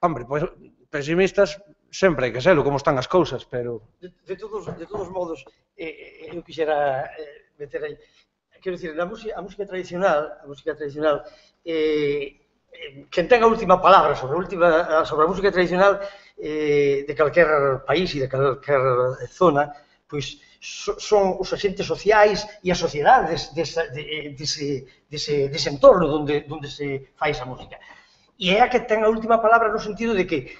Hombre, pois, pesimistas, sempre hai que serlo, como están as cousas, pero... De todos modos, eu quixera meter aí... Quero dicir, a música tradicional, quen ten a última palabra sobre a música tradicional de calquer país e de calquer zona, pois son os agentes sociais e as sociedades dese entorno onde se fai esa música. E é a que ten a última palabra no sentido de que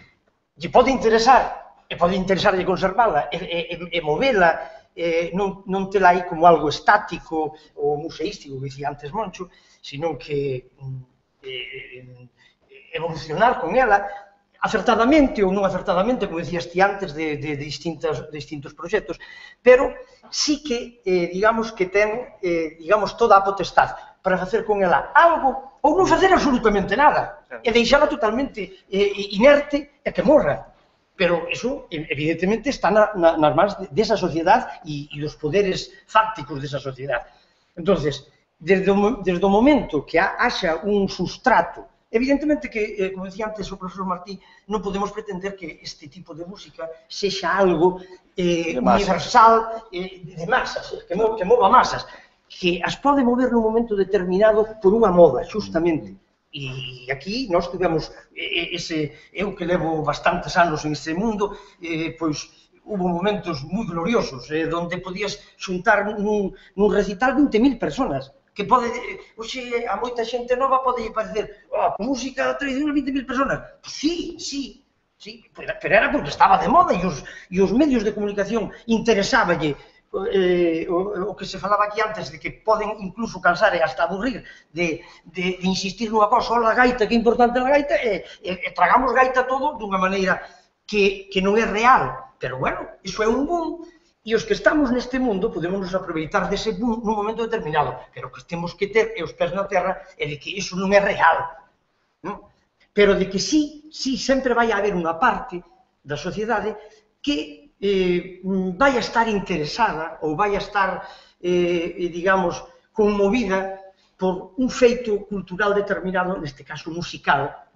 lle pode interesar e pode interesarlle conservala e movela, non tela aí como algo estático ou museístico, que dicía antes Moncho, sino que evolucionar con ela, acertadamente ou non acertadamente, como decías ti antes, de distintos proxectos, pero sí que, digamos, que ten, digamos, toda a potestad para facer con ela algo ou non facer absolutamente nada, e deixala totalmente inerte e que morra. Pero eso, evidentemente, está nas mans desa sociedade e dos poderes fácticos desa sociedade. Entonces, desde o momento que haxa un sustrato, evidentemente que, como decía antes o profesor Martí, non podemos pretender que este tipo de música sexa algo universal, de masas, que mova masas, que as pode mover nun momento determinado por unha moda, justamente. E aquí nós tivemos eu que levo bastantes anos en este mundo, pois hubo momentos moi gloriosos, onde podías xuntar nun recital 20.000 personas, que pode, hoxe, a moita xente nova pode parecer, música tradicional 20.000 personas. Sí, pero era porque estaba de moda e os medios de comunicación interesáballe o que se falaba aquí antes, de que poden incluso cansar e hasta aburrir de insistir nunha cosa, a gaita, que é importante a gaita, e tragamos gaita todo dunha maneira que non é real, pero bueno, iso é un boom, e os que estamos neste mundo podemos nos aproveitar dese boom nun momento determinado, pero o que temos que ter é os pés na terra e de que iso non é real, pero de que sí, sempre vai haber unha parte da sociedade que vai a estar interesada ou vai a estar, digamos, conmovida por un feito cultural determinado, neste caso musical,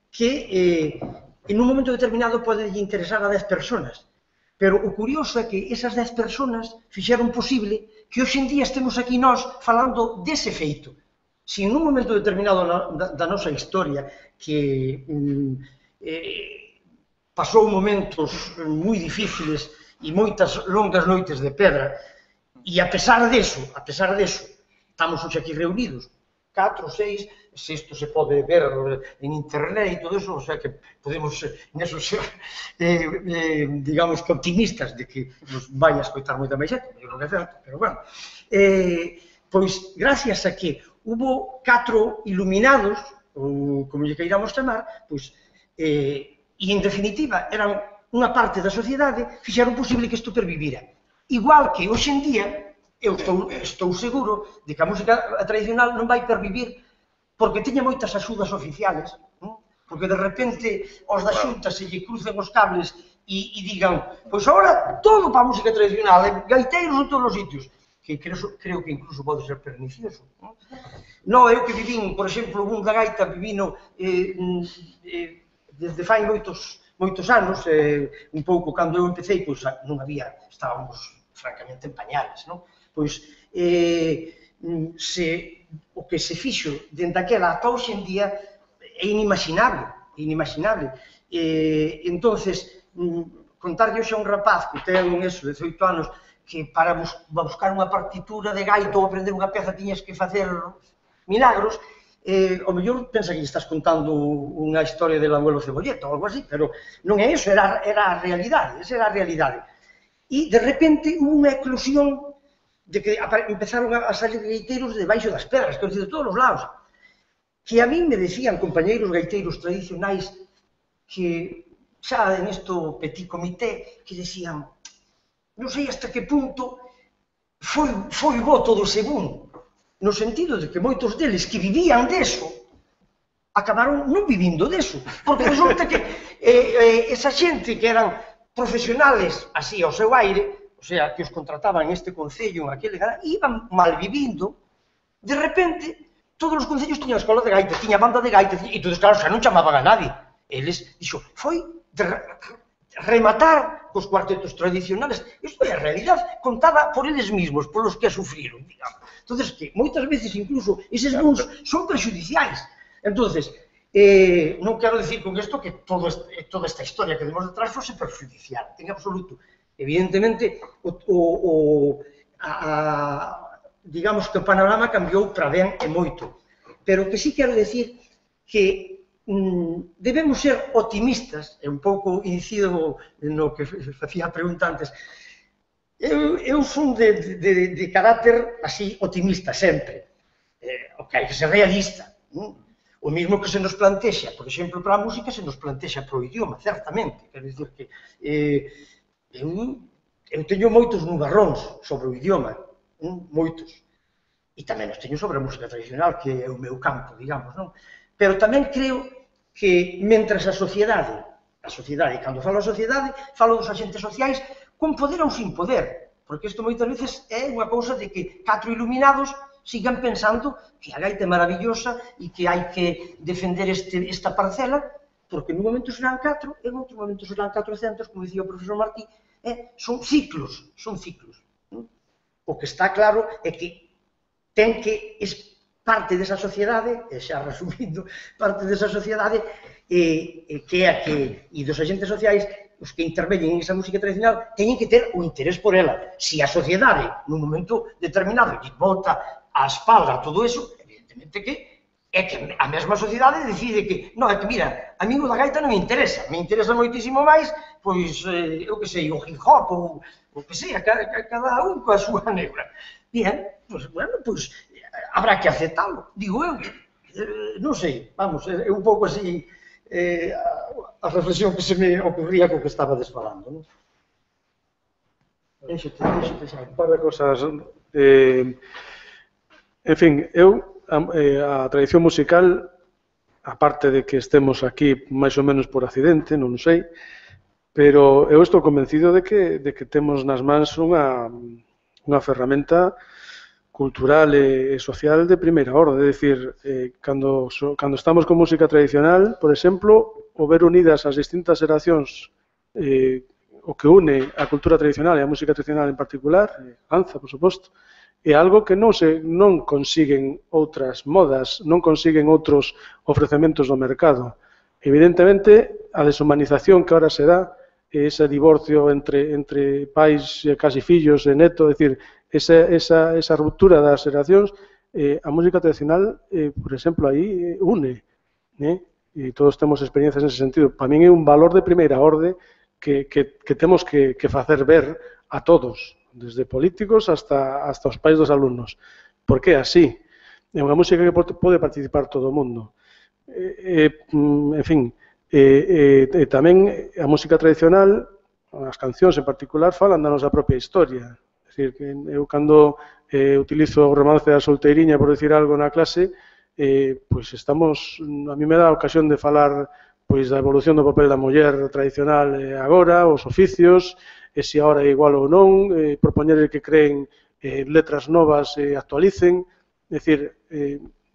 que en un momento determinado pode interesar a 10 personas. Pero o curioso é que esas 10 personas fixeron posible que hoxe en día estemos aquí nós falando dese feito. Se en un momento determinado da nosa historia que pasou momentos moi difíciles e moitas longas noites de pedra, e a pesar deso, estamos hoxe aquí reunidos, 4, 6, se isto se pode ver en internet e todo eso, o sea que podemos neso ser, digamos, que optimistas de que nos vai a escoitar moita máis xente, eu non é certo, pero bueno, pois gracias a que hubo 4 iluminados, ou como lle queiramos chamar, pois, e, en definitiva, eran unha parte da sociedade, fixeron posible que isto pervivira. Igual que, hoxe en día, eu estou seguro de que a música tradicional non vai pervivir porque teña moitas axudas oficiales, porque de repente os da Xunta se lle crucen os cables e digan, pois agora todo para a música tradicional, gaiteiros en todos os sitios, que creo que incluso pode ser pernicioso. Non, eu que vivín, por exemplo, un da gaita vivino desde fai moitos anos, un pouco cando eu empecé, pois non había, estábamos francamente en pañales, non? Pois, o que se fixo dende aquela ata hoxe en día é inimaginable. Entonces, contarlle hoxe a un rapaz que ten 18 anos, que para buscar unha partitura de gaita ou aprender unha peza tiñas que facer milagros, o mellor pensa que estás contando unha historia del abuelo Cebolleta ou algo así, pero non é iso, era a realidade, esa era a realidade. E, de repente, unha eclosión de que empezaron a salir gaiteiros debaixo das pedras, que de todos os lados, que a mí me decían compañeiros gaiteiros tradicionais que xa en isto petit comité, que decían, non sei hasta que punto foi bo todo ese boom, no sentido de que moitos deles que vivían deso acabaron non vivindo deso, porque resulta que esa xente que eran profesionales así ao seu aire, o sea, que os contrataban en este concello, en aquele, iban mal vivindo, de repente, todos os concellos tiñan escola de gaita, tiña banda de gaita, e todos, claro, xa non chamaban a nadie. Eles, dixo, foi rematar cos cuartetos tradicionales. Isto é a realidade contada por eles mesmos, polos que a sufriron, digamos. Entón, que moitas veces, incluso, eses booms son prejudiciais. Entón, non quero dicir con isto que toda esta historia que demos detrás fose perjudicial, en absoluto. Evidentemente, digamos que o panorama cambiou para ben e moito. Pero o que sí quero dicir que debemos ser optimistas, e un pouco incido no que facía a pregunta antes. Eu son de carácter así optimista sempre, o que hai que ser realista. O mismo que se nos plantexa, por exemplo, para a música, se nos plantexa para o idioma, certamente. Quero dicir que eu teño moitos nubarróns sobre o idioma, moitos. E tamén os teño sobre a música tradicional, que é o meu campo, digamos, non? Pero tamén creo que, mentras a sociedade, cando falo a sociedade, falo dos agentes sociais con poder ou sin poder, porque isto moitas veces é unha cousa de que 4 iluminados sigan pensando que a gaita é maravillosa e que hai que defender esta parcela, porque nun momento serán 4, en outro momento serán 400, como dicía o profesor Martí, son ciclos, son ciclos. O que está claro é que ten que parte desa sociedade, e xa resumindo, parte desa sociedade que é a que, e dos agentes sociais, os que interveñen en esa música tradicional, teñen que ter o interés por ela. Se a sociedade, nun momento determinado, lle volta a espalda a todo eso, evidentemente que é que a mesma sociedade decide que, non, é que, mira, a mí o da gaita non me interesa moitísimo máis, pois, eu que sei, o hip hop, ou o que sei, cada un coa súa negra. Bien, pois, bueno, pois, habrá que aceptalo, digo eu. Non sei, vamos, é un pouco así a reflexión que se me ocurría co que estabades falando, non? Déxate xa. Un par de cosas. En fin, a tradición musical, aparte de que estemos aquí máis ou menos por accidente, non sei, pero eu estou convencido de que temos nas mans unha ferramenta cultural e social de primeira orde. É dicir, cando estamos con música tradicional, por exemplo, o ver unidas as distintas xeracións, o que une a cultura tradicional e a música tradicional en particular, danza, por suposto, é algo que non consiguen outras modas, non consiguen outros ofrecementos do mercado. Evidentemente, a deshumanización que ahora se dá, ese divorcio entre pais e casi fillos e neto, é dicir, esa ruptura das xeracións, a música tradicional, por exemplo, aí une, e todos temos experiencias nese sentido. Para min é un valor de primeira orde que temos que facer ver a todos, desde políticos hasta os pais dos alumnos, porque é así. É unha música que pode participar todo o mundo. En fin, tamén a música tradicional, as cancións en particular, falan da nosa propia historia. É dicir, que eu cando utilizo o romance da solteiriña, por decir algo na clase, pois estamos, a mí me dá a ocasión de falar pois da evolución do papel da muller tradicional agora, os oficios, e se agora é igual ou non, propoñer que creen letras novas e actualicen, é dicir,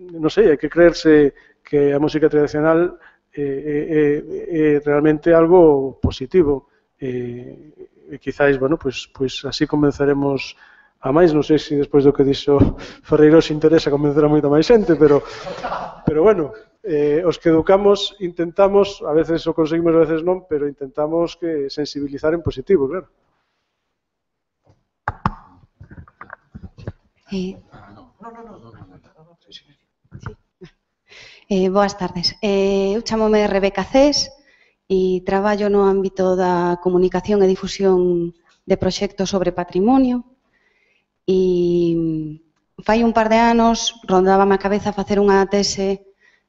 non sei, hai que creerse que a música tradicional é realmente algo positivo, e quizáis, bueno, pois así convenceremos a máis, non sei se despois do que dixo Ferreiro se interesa convencer a moita máis xente, pero bueno, os que educamos intentamos, a veces o conseguimos, a veces non, pero intentamos que sensibilizar en positivo, claro. Boas tardes. Eu chamome Rebeca Cés e traballo no ámbito da comunicación e difusión de proxectos sobre patrimonio e fai un par de anos rondábame a cabeza facer unha tese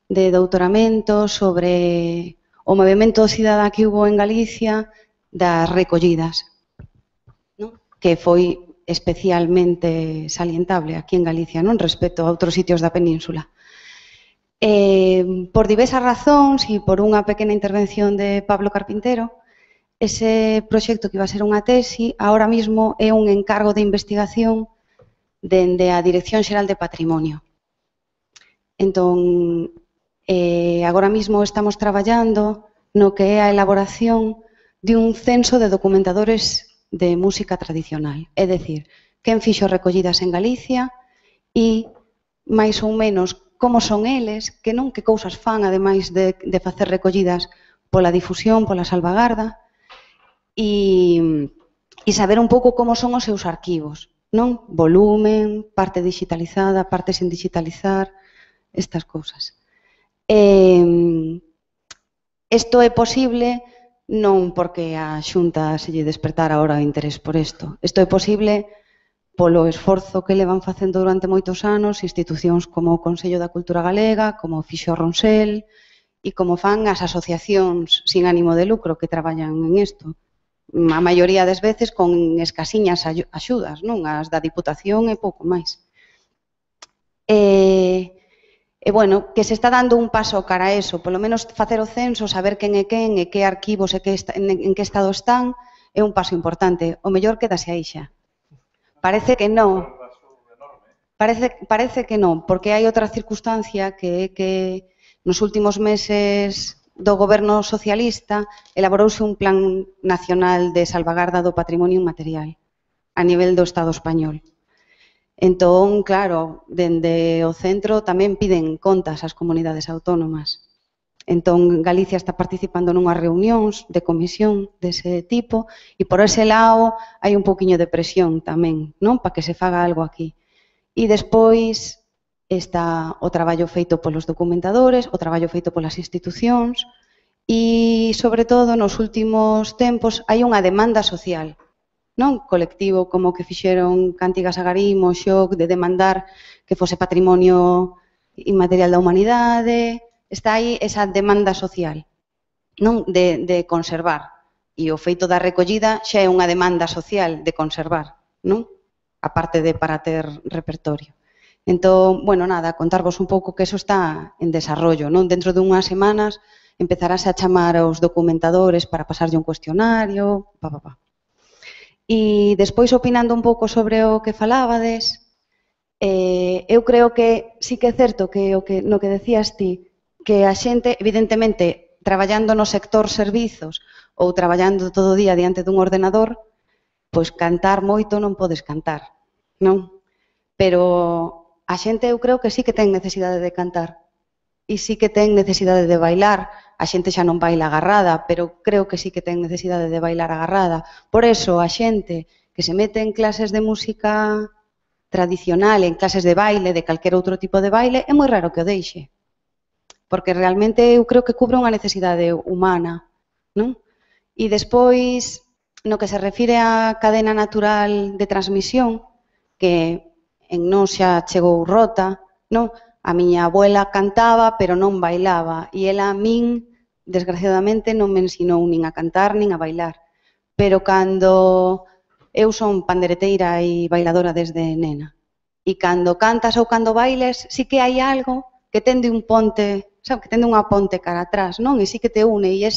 de doutoramento sobre o movimento cidadá que hubo en Galicia das recollidas, que foi especialmente salientable aquí en Galicia, non respecto a outros sitios da península. Por diversas razóns e por unha pequena intervención de Pablo Carpintero, ese proxecto que iba a ser unha tesi, ahora mesmo é un encargo de investigación dende a Dirección Xeral de Patrimonio. Entón, agora mesmo estamos traballando no que é a elaboración de un censo de documentadores de música tradicional. É dicir, quen fixo recollidas en Galicia e, máis ou menos, como son eles, que non que cousas fan, ademais de facer recollidas pola difusión, pola salvagarda, e saber un pouco como son os seus arquivos, non? Volumen, parte digitalizada, parte sin digitalizar, estas cousas. Isto é posible non porque a Xunta se lle despertara ahora o interés por isto. Isto é posible polo esforzo que levan facendo durante moitos anos institucións como o Consello da Cultura Galega, como o fixo Ronsel e como fan as asociacións sin ánimo de lucro que traballan en isto. A maioría das veces con escasiñas axudas, non? As da Diputación e pouco máis. E, bueno, que se está dando un paso cara a eso, polo menos facer o censo, saber quen e que arquivos e en que estado están, é un paso importante. O mellor quedase aí xa. Parece que non. Parece que non, porque hai outra circunstancia que é que nos últimos meses do goberno socialista elaborouse un plan nacional de salvagarda do patrimonio inmaterial a nivel do Estado español. Entón, claro, dende o centro tamén piden contas ás comunidades autónomas. Entón, Galicia está participando nunhas reunións de comisión dese tipo e por ese lado hai un pouquiño de presión tamén, non? Para que se faga algo aquí. E despois está o traballo feito polos documentadores, o traballo feito polas institucións e, sobre todo, nos últimos tempos hai unha demanda social, non? Colectivo como que fixeron Cántigas a Garimo, Xoc, de demandar que fose patrimonio inmaterial da humanidade. Está aí esa demanda social, non? De conservar. E o feito da recollida xa é unha demanda social de conservar, non? Aparte de para ter repertorio. Entón, bueno, nada, contarvos un pouco que eso está en desarrollo, non? Dentro de unhas semanas empezarase a chamar aos documentadores para pasarlle un cuestionario, E despois, opinando un pouco sobre o que falábades, eu creo que sí que é certo que no que decías ti, que a xente, evidentemente, traballando no sector servizos ou traballando todo o día diante dun ordenador, pois cantar moito non podes cantar, non? Pero a xente eu creo que sí que ten necesidade de cantar e sí que ten necesidade de bailar. A xente xa non baila agarrada, pero creo que sí que ten necesidade de bailar agarrada. Por eso, a xente que se mete en clases de música tradicional, en clases de baile, de calquer outro tipo de baile, é moi raro que o deixe. Porque realmente eu creo que cubre unha necesidade humana, non? E despois, no que se refire á cadena natural de transmisión, que en nós xa chegou rota, non? A miña abuela cantaba, pero non bailaba, e ela a min, desgraciadamente, non me ensinou nin a cantar nin a bailar. Pero cando eu son pandereteira e bailadora desde nena, e cando cantas ou cando bailes, sí que hai algo que tende un ponte, sabe, que tende unha ponte cara atrás, non? E sí que te une, e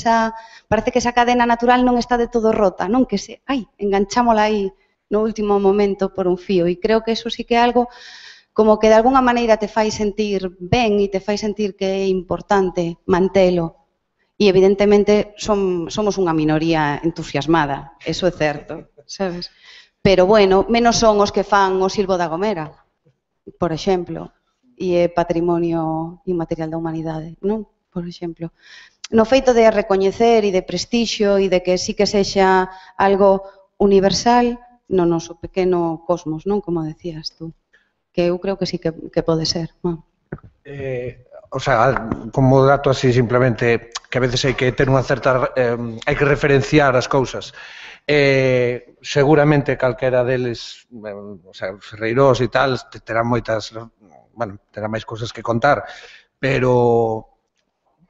parece que esa cadena natural non está de todo rota, non? Que enganchámola aí no último momento por un fío, e creo que eso sí que é algo como que de alguna maneira te fai sentir ben e te fai sentir que é importante mantelo. E evidentemente somos unha minoría entusiasmada, eso é certo, sabes? Pero bueno, menos son os que fan o Silbo da Gomera, por exemplo, e é patrimonio inmaterial da humanidade, non? Por exemplo. No feito de recoñecer e de prestixio e de que sí que sexa algo universal no noso pequeno cosmos, non? Como decías tú, que eu creo que sí que pode ser, non? O sea, como dato así simplemente, que a veces hai que ter unha certa, hai que referenciar as cousas. Seguramente calquera deles, o sea, os ferreiros e tal, terán moitas, bueno, terán máis cousas que contar, pero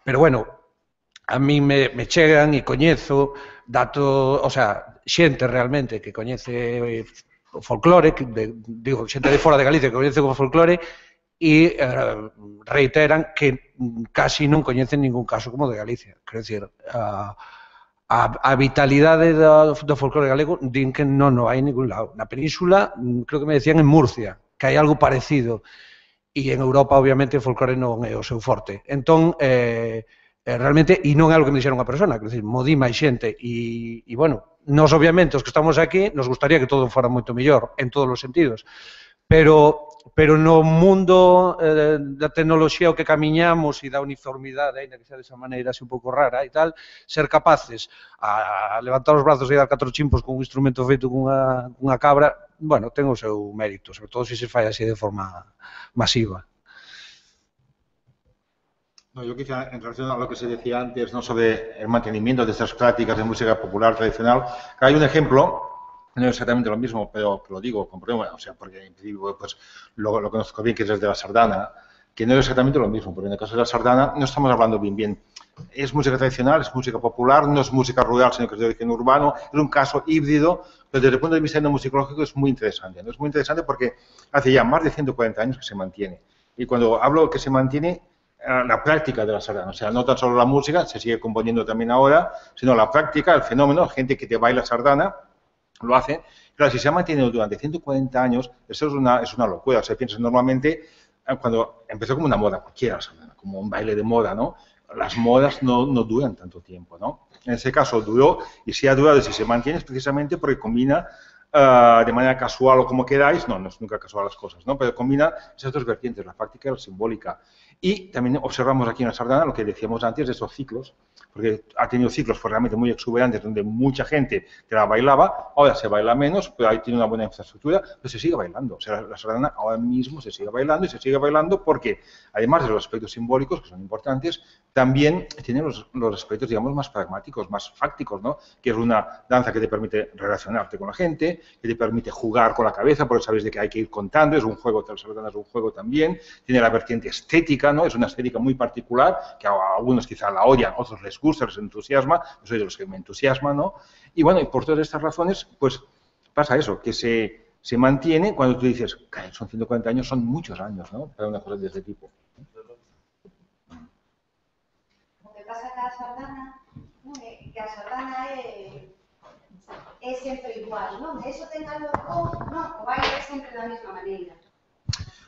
bueno, a mí me chegan e coñezo datos, o sea, xente realmente que coñece o folclore, digo, xente de fora de Galicia que coñece o folclore, e reiteran que casi non coñecen ningún caso como de Galicia. Quero dicir, a vitalidade do folclore galego din que non hai en ningún lado. Na península, creo que me decían en Murcia, que hai algo parecido, e en Europa, obviamente, o folclore non é o seu forte. Entón, realmente, e non é algo que me dixera unha persona, quero dicir, modí máis xente, e, bueno, nós, obviamente, os que estamos aquí, nos gustaría que todo fora moito mellor, en todos os sentidos, pero no mundo da tecnoloxía o que camiñamos e da uniformidade, ainda que sea desa maneira así un pouco rara e tal, ser capaces a levantar os brazos e dar 4 chimpos con un instrumento feito cunha cabra, bueno, ten o seu mérito, sobre todo se fai así de forma masiva. No, yo quizá en relación a lo que se decía antes, ¿no?, sobre el mantenimiento de estas prácticas de música popular tradicional, hay un ejemplo, no es exactamente lo mismo, pero lo digo con problema, o sea, porque en principio, pues, lo conozco bien, que es el de la sardana, que no es exactamente lo mismo, porque en el caso de la sardana no estamos hablando bien. Es música tradicional, es música popular, no es música rural, sino que es de origen urbano, es un caso híbrido, pero desde el punto de vista etnomusicológico es muy interesante, ¿no? Es muy interesante porque hace ya más de 140 años que se mantiene. Y cuando hablo que se mantiene, la práctica de la sardana, o sea, no tan solo la música, se sigue componiendo también ahora, sino la práctica, el fenómeno, gente que te baila sardana, lo hace. Claro, si se ha mantenido durante 140 años, eso es una locura. O sea, piensas normalmente, cuando empezó como una moda cualquiera, como un baile de moda, ¿no? Las modas no duran tanto tiempo, ¿no? En ese caso duró, y si ha durado y si se mantiene es precisamente porque combina de manera casual o como queráis, no es nunca casual las cosas, ¿no? Pero combina esas dos vertientes, la práctica y la simbólica. Y también observamos aquí en la sardana lo que decíamos antes de esos ciclos, porque ha tenido ciclos pues, realmente muy exuberantes donde mucha gente te la bailaba, ahora se baila menos, pero ahí tiene una buena infraestructura, pero se sigue bailando. O sea, la sardana ahora mismo se sigue bailando y se sigue bailando porque, además de los aspectos simbólicos, que son importantes, también tiene los aspectos, digamos, más pragmáticos, más fácticos, ¿no? Que es una danza que te permite relacionarte con la gente, que te permite jugar con la cabeza, porque sabes de que hay que ir contando, es un juego, la sardana es un juego también, tiene la vertiente estética, ¿no? Es una estética muy particular, que a algunos quizá la odian, a otros les gusta, les entusiasma, yo soy de los que me entusiasma, ¿no? Y bueno, y por todas estas razones, pues pasa eso, que se mantiene cuando tú dices, son 140 años, son muchos años, ¿no? Para una cosa de este tipo. O que pasa que a sardana, que a sardana é sempre igual, non? Eso ten algo, non, o baile é sempre da mesma maneira.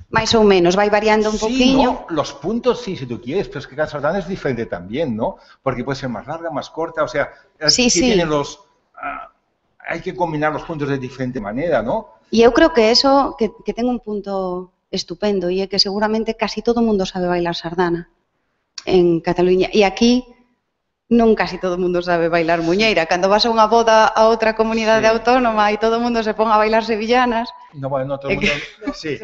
Más o menos, va variando un poquillo. No, los puntos sí, si tú quieres, pero es que cada sardana es diferente también, ¿no? Porque puede ser más larga, más corta, o sea, sí. Tienen hay que combinar los puntos de diferente manera, ¿no? Y eu creo que eso, que ten un punto estupendo, e é que seguramente casi todo o mundo sabe bailar sardana en Cataluña. E aquí non casi todo o mundo sabe bailar muñeira. Cando vas a unha boda a outra comunidade autónoma e todo o mundo se pon a bailar sevillanas... No, bueno, no todo el mundo, sí,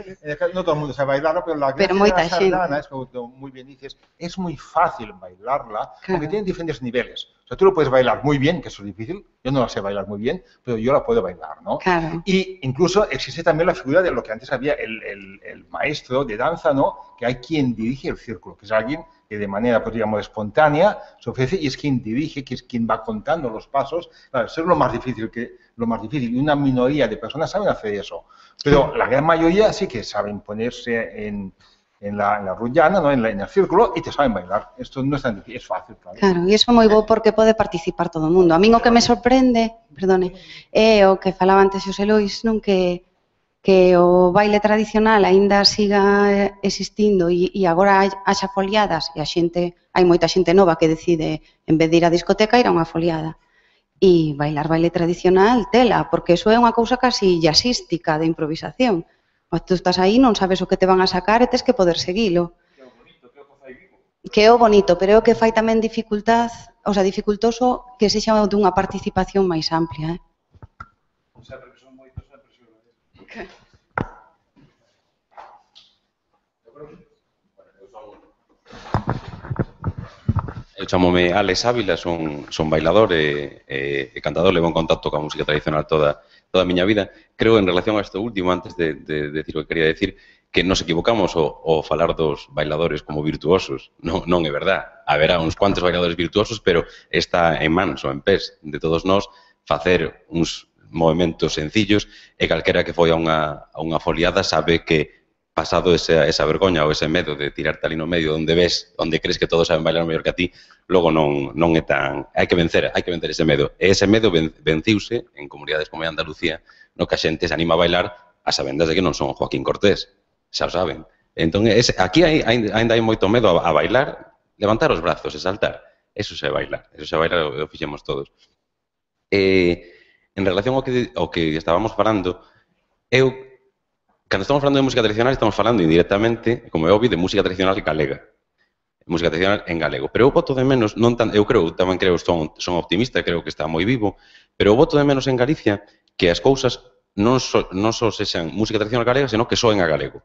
no todo el mundo sabe bailarla, pero la gracia de la sardana es, como muy bien dices, es muy fácil bailarla, porque tiene diferentes niveles. O sea, tú lo puedes bailar muy bien, que eso es difícil, yo no la sé bailar muy bien, pero yo la puedo bailar, ¿no? Claro. Y incluso existe también la figura de lo que antes había el maestro de danza, ¿no? Que hay quien dirige el círculo, que es alguien que de manera, pues, digamos, espontánea se ofrece y es quien dirige, que es quien va contando los pasos. Claro, eso es lo más difícil, y una minoría de personas saben hacer eso. Pero la gran mayoría sí que saben ponerse en la rullana, ¿no? en el círculo, y te saben bailar. Esto no es tan difícil, es fácil, claro. Claro, e iso é moi bo porque pode participar todo o mundo. A min o que me sorprende, é o que falaba antes Xosé Lois, non, que o baile tradicional aínda siga existindo e agora haxa foliadas e hai moita xente nova que decide, en vez de ir á discoteca, ir a unha foliada. E bailar baile tradicional, tela, porque eso é unha cousa casi jazzística de improvisación. Tú estás aí, non sabes o que te van a sacar e tes que poder seguilo. Que é o bonito, pero é o que fai tamén dificultoso que sexa dunha participación máis amplia. Eu chamome Alex Ávila, son bailador e cantador, levo en contacto coa música tradicional toda a miña vida. Creo, en relación a isto último, antes de decir o que quería decir, que nos equivocamos ao falar dos bailadores como virtuosos. Non é verdad. Haberá uns cuantos bailadores virtuosos, pero está en mans ou en pés de todos nós facer uns movimentos sencillos e calquera que foi a unha foliada sabe que pasado esa vergoña ou ese medo de tirarte ali no medio onde crees que todos saben bailar mellor que a ti, logo non é tan... Hai que vencer ese medo. E ese medo venciuse en comunidades como Andalucía, no que a xente se anima a bailar a sabendas de que non son Joaquín Cortés, xa o saben. Entón, aquí ainda hai moito medo a bailar, levantar os brazos e saltar. Eso se bailar, o fixemos todos. En relación ao que estábamos falando, cando estamos falando de música tradicional, estamos falando indirectamente, como é obvio, de música tradicional galega. Música tradicional en galego. Pero eu voto de menos, eu tamén creo, son optimista, creo que está moi vivo, pero eu voto de menos en Galicia que as cousas non só sexan música tradicional galega, senón que soen a galego.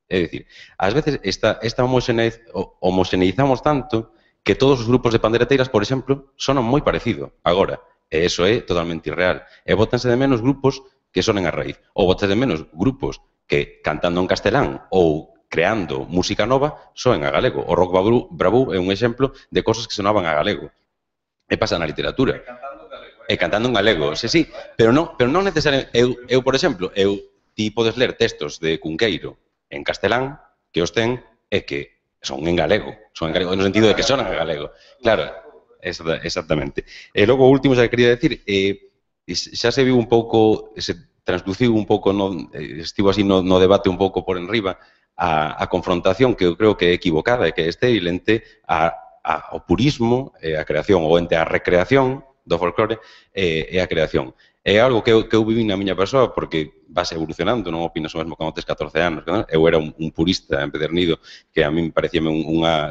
É dicir, ás veces esta homoxeneizamos tanto que todos os grupos de pandereteiras, por exemplo, sonan moi parecido agora. E iso é totalmente irreal. E bótanse de menos grupos que sonen a raíz. Ou bótanse de menos grupos que cantando en castelán ou creando música nova soen a galego. O rock bravú é un exemplo de cosas que sonaban a galego. E pasa na literatura. E cantando en galego, sí, pero non necesariamente. Eu, por exemplo, ti podes ler textos de Cunqueiro en castelán que os ten e que son en galego, no sentido de que sonan en galego. Claro, exactamente. E logo, o último, xa que quería decir, xa se viu un pouco, se transduciu un pouco, estivo así no debate un pouco por enriba, a confrontación que eu creo que é equivocada e que é estéril entre o purismo e a creación, ou entre a recreación do folclore e a creación. É algo que eu viví na miña persoa porque vas evolucionando, non opinas o mesmo cando tes 14 anos. Eu era un purista empedernido que a min parecíame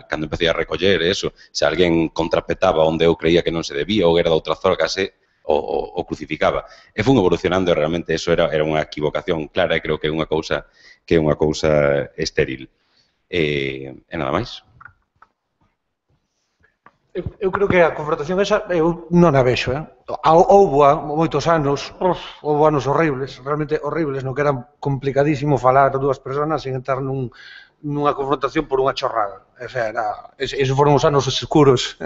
cando empecé a recoller eso, se alguén contrapetaba onde eu creía que non se debía ou era da outra zona case o crucificaba. E fun evolucionando e realmente eso era unha equivocación clara e creo que é unha cousa estéril. E nada máis. Eu creo que a confrontación esa eu non a vexo, houbo moitos anos, houbo anos horribles, realmente horribles, no que era complicadísimo falar dúas persoas sin entrar nunha confrontación por unha chorrada. O sea, esos foron os anos escuros.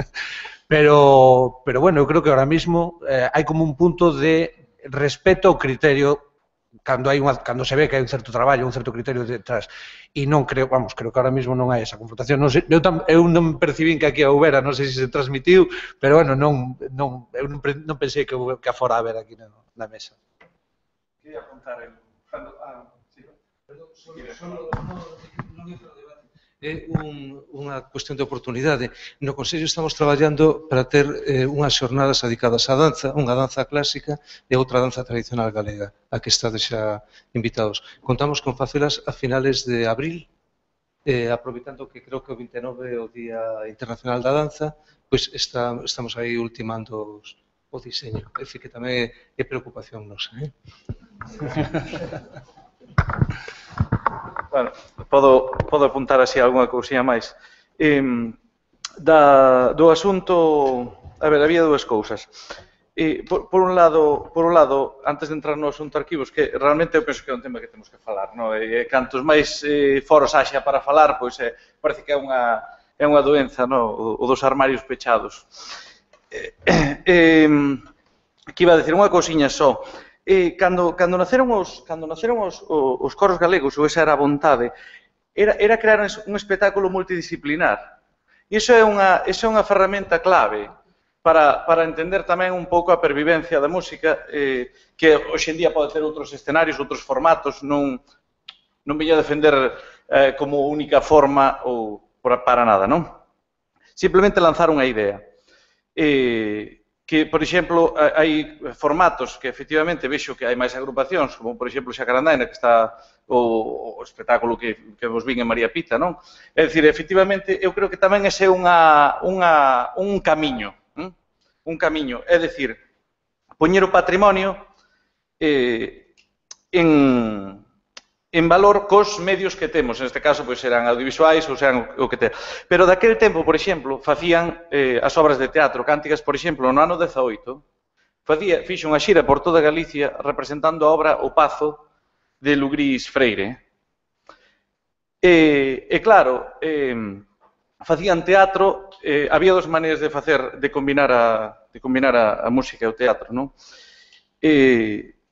Pero bueno, eu creo que ahora mismo hai como un punto de respeto ao criterio cando se ve que hai un certo traballo, un certo criterio detrás. E non creo, creo que ahora mismo non hai esa confrontación. Eu non percibín que aquí a houbera, non sei se transmitiu, pero bueno, eu non pensei que a fora a ver aquí na mesa. Quería apuntar É unha cuestión de oportunidade. No Consello estamos traballando para ter unhas xornadas dedicadas á danza, unha danza clásica e outra danza tradicional galega, a que estades xa invitados. Contamos con facelas a finales de abril, aproveitando que creo que o 29 é o Día Internacional da Danza, pois estamos aí ultimando o diseño. É dicir, que tamén é preocupación nosa. Bueno, podo apuntar así algunha cousiña máis. Do asunto, a ver, había dúas cousas. Por un lado, antes de entrar no asunto arquivos, que realmente eu penso que é un tema que temos que falar, non? E cantos máis foros haxa para falar, pois parece que é unha doenza, non? O dos armarios pechados. Que iba a decir unha cousiña só. Cando naceron os coros galegos, ou esa era a vontade, era crear un espectáculo multidisciplinar. E iso é unha ferramenta clave para entender tamén un pouco a pervivencia da música, que hoxe en día pode ter outros escenarios, outros formatos, non veño a defender como única forma ou para nada, non? Simplemente lanzar unha idea. Que, por exemplo, hai formatos que efectivamente vexo que hai máis agrupacións, como, por exemplo, Xacarandaina, que está o espectáculo que vos vin en María Pita, non? É dicir, efectivamente, eu creo que tamén ese é un camiño, é dicir, poñer o patrimonio en valor cos medios que temos, neste caso, pois, serán audiovisuais ou serán o que te... Pero daquel tempo, por exemplo, facían as obras de teatro, Cántigas, por exemplo, no ano 18, fixo unha xira por toda Galicia representando a obra O Pazo de Lugrís Freire. E claro, facían teatro, había dos maneiras de combinar a música e o teatro, non?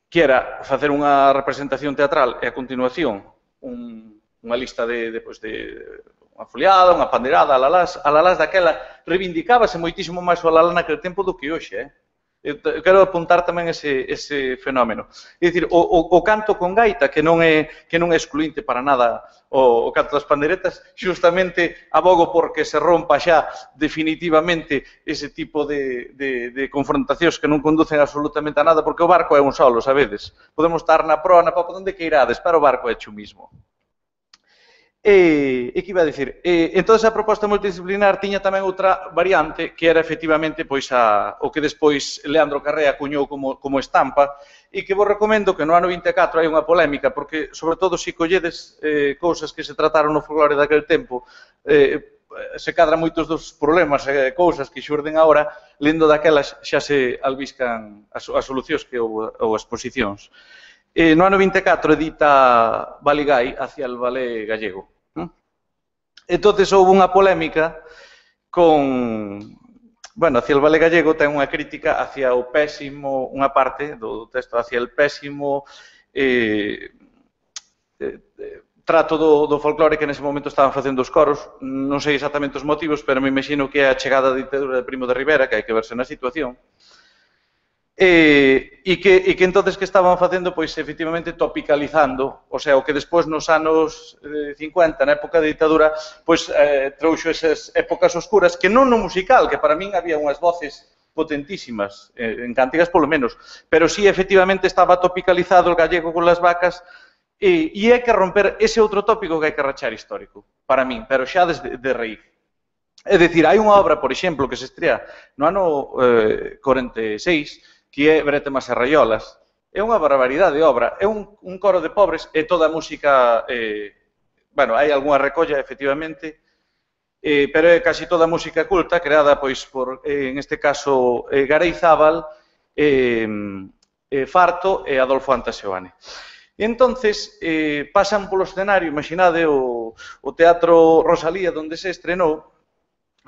Que era facer unha representación teatral e, a continuación, unha lista de unha foliada, unha pandeirada, alalás daquela, reivindicábase moitísimo máis o alalá naquele tempo do que hoxe. Eu quero apuntar tamén ese fenómeno. É dicir, o canto con gaita, que non é excluinte para nada o canto das pandeiretas, xustamente abogo porque se rompa xa definitivamente ese tipo de confrontacións que non conducen absolutamente a nada, porque o barco é un solo, sabedes? Podemos estar na proa, na popa, onde que irades, pero o barco é xo mismo. E que iba a dicir? Entón, a proposta multidisciplinar tiña tamén outra variante, que era efectivamente o que despois Leandro Carré acuñou como estampa, e que vos recomendo que no ano 24 hai unha polémica, porque, sobre todo, se colledes cousas que se trataron no folclore daquel tempo, se cadran moitos dos problemas e cousas que xurden agora, lendo daquelas xa se albiscan as solucións que ou exposicións. No ano 24 edita Baligai hacia el ballet gallego. Entonces houve unha polémica con... Bueno, hacia el ballet gallego ten unha crítica hacia o pésimo, unha parte do texto hacia el pésimo trato do folclore que nese momento estaban facendo os coros. Non sei exactamente os motivos, pero me imagino que é a chegada da ditadura de Primo de Rivera, que hai que verse na situación. E que entonces que estaban facendo, pois, efectivamente, topicalizando, o sea, o que despois nos anos 50, na época da ditadura, pois, trouxo esas épocas oscuras, que non no musical, que para min había unhas voces potentísimas, en cántigas polo menos, pero sí, efectivamente, estaba topicalizado o gallego con las vacas, e hai que romper ese outro tópico que hai que rachar histórico, para min, pero xa desde de raíz. É dicir, hai unha obra, por exemplo, que se estrea no ano 46, que é Bretemas e Raiolas. É unha barbaridade de obra. É un coro de pobres e toda a música... Bueno, hai algunha recolla, efectivamente, pero é casi toda a música culta, creada, pois, por, en este caso, Gareizábal, Farto e Adolfo Antaseoane. E entonces pasan polo escenario, imaginade o Teatro Rosalía, onde se estrenou,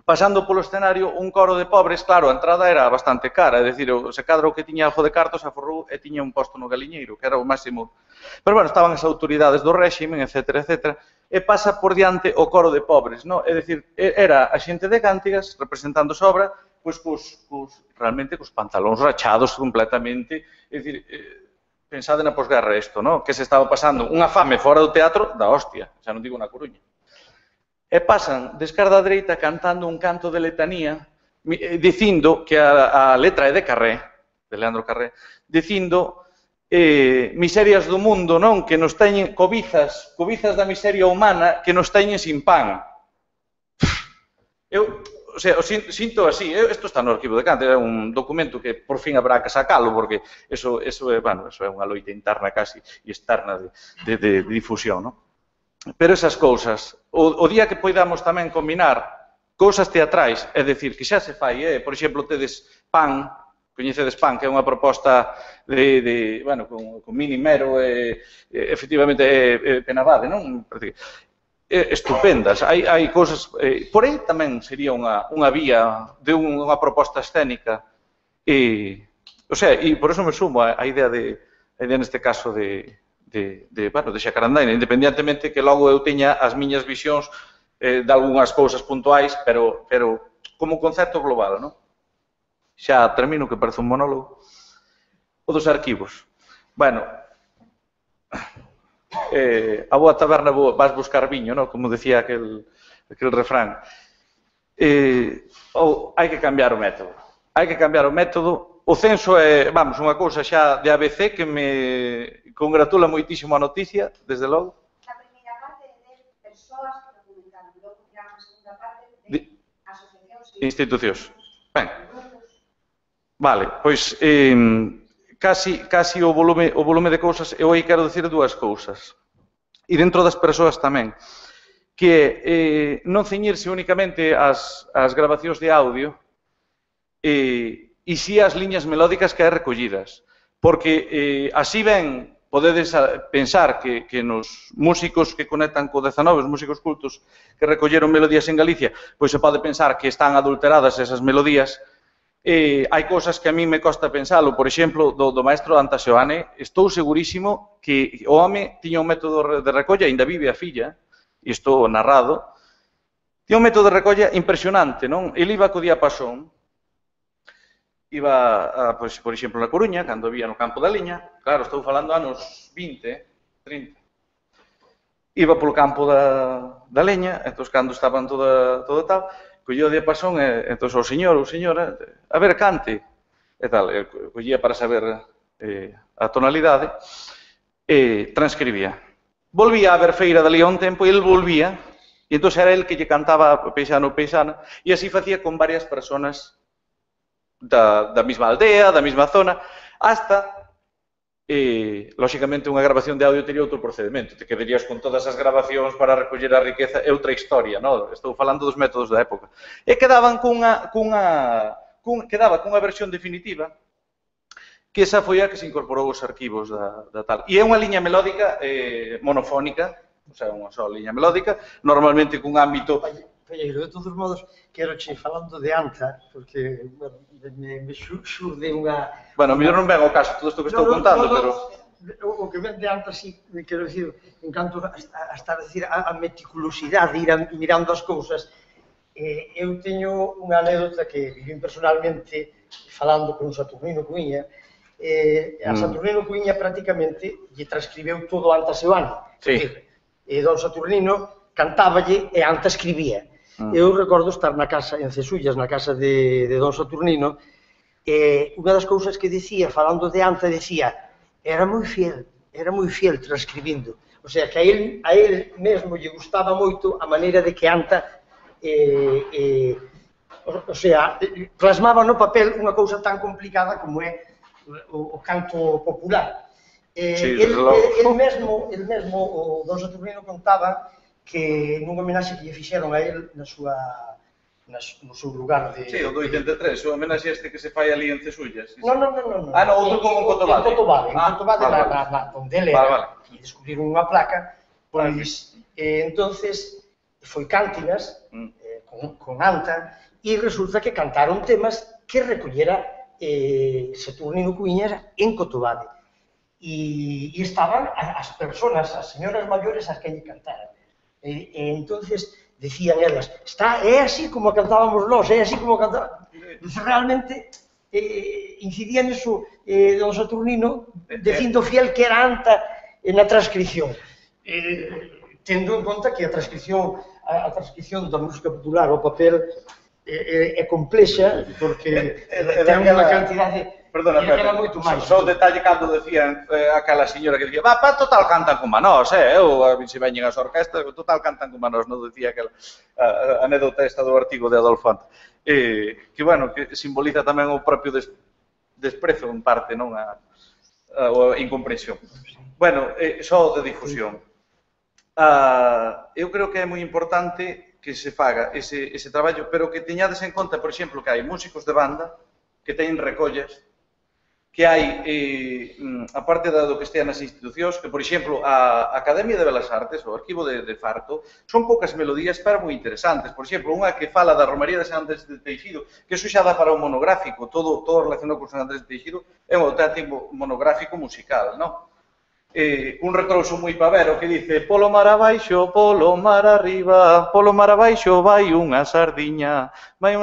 pasando polo escenario un coro de pobres, claro, a entrada era bastante cara, é dicir, se cadra o que tiña algo de cartos aforrou e tiña un posto no galiñeiro, que era o máximo. Pero, bueno, estaban as autoridades do réximen, etc., etc., e pasa por diante o coro de pobres, non? É dicir, era a xente de Cántigas, representando a obra, pois, realmente, cos pantalóns rachados completamente, é dicir, pensade na posguerra isto, non? Que se estaba pasando unha fame fora do teatro da hostia, xa non digo na Coruña. E pasan de esquerda a dereita cantando un canto de letanía, dicindo que a letra é de Carré, de Leandro Carré, dicindo miserias do mundo, non? Que nos teñen cobizas da miseria humana que nos teñen sin pan. Eu, o sea, sinto así, isto está no arquivo de Cante, é un documento que por fin habrá que sacalo, porque eso é unha loita interna casi e externa de difusión, non? Pero esas cousas, o día que poidamos tamén combinar cousas teatrais, é dicir, que xa se fai, por exemplo, tedes Pan, coñecedes Pan, que é unha proposta bueno, con Mini Mero, efectivamente, Penabade, non? Estupendas, hai cousas, por aí tamén sería unha vía de unha proposta escénica, o sea, e por eso me sumo a idea neste caso de Xacarandaina, independientemente que logo eu teña as miñas visións de algunhas cousas puntuais, pero como concepto global, non? Xa termino, que parece un monólogo. O dos arquivos. Bueno, a boa taberna vas buscar viño, non? Como decía aquel refrán. Hai que cambiar o método. Hai que cambiar o método. O censo é, vamos, unha cousa xa de ABC que me congratula moitísimo a noticia, desde logo. A primeira parte de persoas que documentaron, logo irá a segunda parte de asociacións e institucións. Ben, vale, pois casi o volume de cousas, eu aí quero dicir dúas cousas. E dentro das persoas tamén, que é non ceñirse únicamente ás grabacións de audio e si as liñas melódicas que hai recollidas. Porque así ben podedes pensar que nos músicos que conectan co 19, os músicos cultos que recolleron melodías en Galicia, pois se pode pensar que están adulteradas esas melodías. Hai cousas que a mí me costa pensalo, por exemplo, do maestro Antaseoane, estou segurísimo que o home tiña un método de recolla, ainda vive a filla, e estou narrado, tiña un método de recolla impresionante, non? Ele iba co diapasón, iba, pois, por exemplo, na Coruña, cando vía no campo da liña, claro, estou falando anos 20, 30, iba polo campo da leña, entón, cando estaban todo tal, collía o diapasón, entón, o señor ou señora, a ver, cante, e tal, collía para saber a tonalidade, e transcribía. Volvía a ver feira dali a un tempo, e ele volvía, e entón era ele que lle cantaba paisano ou paisana, e así facía con varias personas da mesma aldea, da mesma zona, hasta lóxicamente, unha grabación de audio teria outro procedimento. Te quedarías con todas as grabacións para recoller a riqueza, é outra historia, non? Estou falando dos métodos da época. E quedaba cunha versión definitiva, que esa foi a que se incorporou aos arquivos da tal. E é unha liña melódica monofónica, o sea, unha só liña melódica, normalmente cun ámbito... Palleiro, de todos modos, quero che falando de Anta, porque me xurde unha... Bueno, mellor non ven ao caso todo isto que estou contando, pero... O que ven de Anta, sí, quero dicir, en canto a estar a decir a meticulosidade, ir mirando as cousas, eu teño unha anécdota que viví personalmente falando con Saturnino Cuíña. A Saturnino Cuíña prácticamente lle transcribeu todo Anta Seoane. E don Saturnino cantáballe e Anta escribía. Eu recordo estar na casa, en Cesullas, na casa de don Saturnino, e unha das cousas que dicía, falando de Anta, decía, era moi fiel transcribindo. O sea, que a él mesmo lle gustaba moito a maneira de que Anta, o sea, plasmaba no papel unha cousa tan complicada como é o canto popular. El mesmo, o don Saturnino contaba que nunha homenaxe que lle fixeron a él no seu lugar de... Sí, o do 83, o homenaxe este que se fai ali en Cesullas. Non. Ah, non, outro como en Cotobade. En Cotobade, onde ele era, e descubriron unha placa, pois, entonces, foi Cántigas, con Anta, e resulta que cantaron temas que recollera Saturnino Cuíñas en Cotobade. E estaban as personas, as señoras maiores as que lle cantaran. E entonces decían elas, é así como cantábamos nós, é así como cantábamos. Realmente incidía niso don Saturnino, dicindo fiel que era Anta na transcripción. Tendo en conta que a transcripción da música popular ao papel é complexa, porque ten unha cantidade... Perdona, Pepe, só o detalle cando decían aquela señora que dicía, pa, total cantan como a nós, eu, se veñen as orquestas, total cantan como a nós, non decía aquela anécdota esta do artigo de Adolfo Anta. Que, bueno, que simboliza tamén o propio desprezo, en parte, non? A incomprensión. Bueno, só de difusión. Eu creo que é moi importante que se faga ese traballo, pero que teñades en conta, por exemplo, que hai músicos de banda que teñen recollas, que hai, aparte do que estea nas institucións, que, por exemplo, a Academia de Belas Artes, o Arquivo de Farto, son poucas melodías, pero moi interesantes. Por exemplo, unha que fala da Romaría de San Andrés de Teixido, que iso xa dá para un monográfico, todo relacionado con San Andrés de Teixido, é un auténtico monográfico musical, non? Un retrouso moi pavero que dice polo mar abaixo, polo mar arriba, polo mar abaixo vai unha sardiña, vai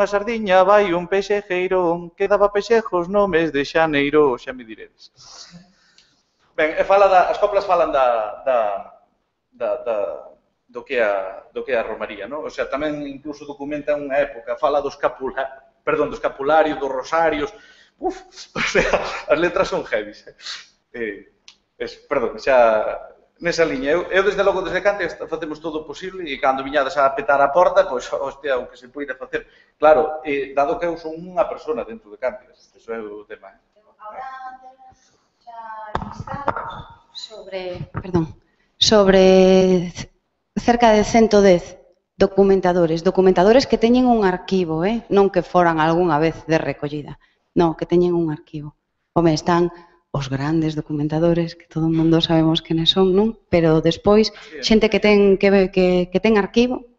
un pexejeiro, que daba pexejos no mes de xaneiro, xa me diredes. Ben, as coplas falan do que é a romaría, non? O sea, tamén incluso documentan unha época, fala do escapulario, dos rosarios, o sea, as letras son heavies. Perdón, xa nesa liña. Eu desde logo, desde Cante, facemos todo o posible e cando viñades a petar a porta, pois, hostia, o que se poida facer. Claro, dado que eu son unha persona dentro de Cante, eso é o tema. Ahora temos xa listados sobre cerca de 110 documentadores que teñen un arquivo, non que foran algunha vez de recollida, non, que teñen un arquivo. Home, están os grandes documentadores, que todo o mundo sabemos quenes son, non? Pero despois, xente que ten arquivo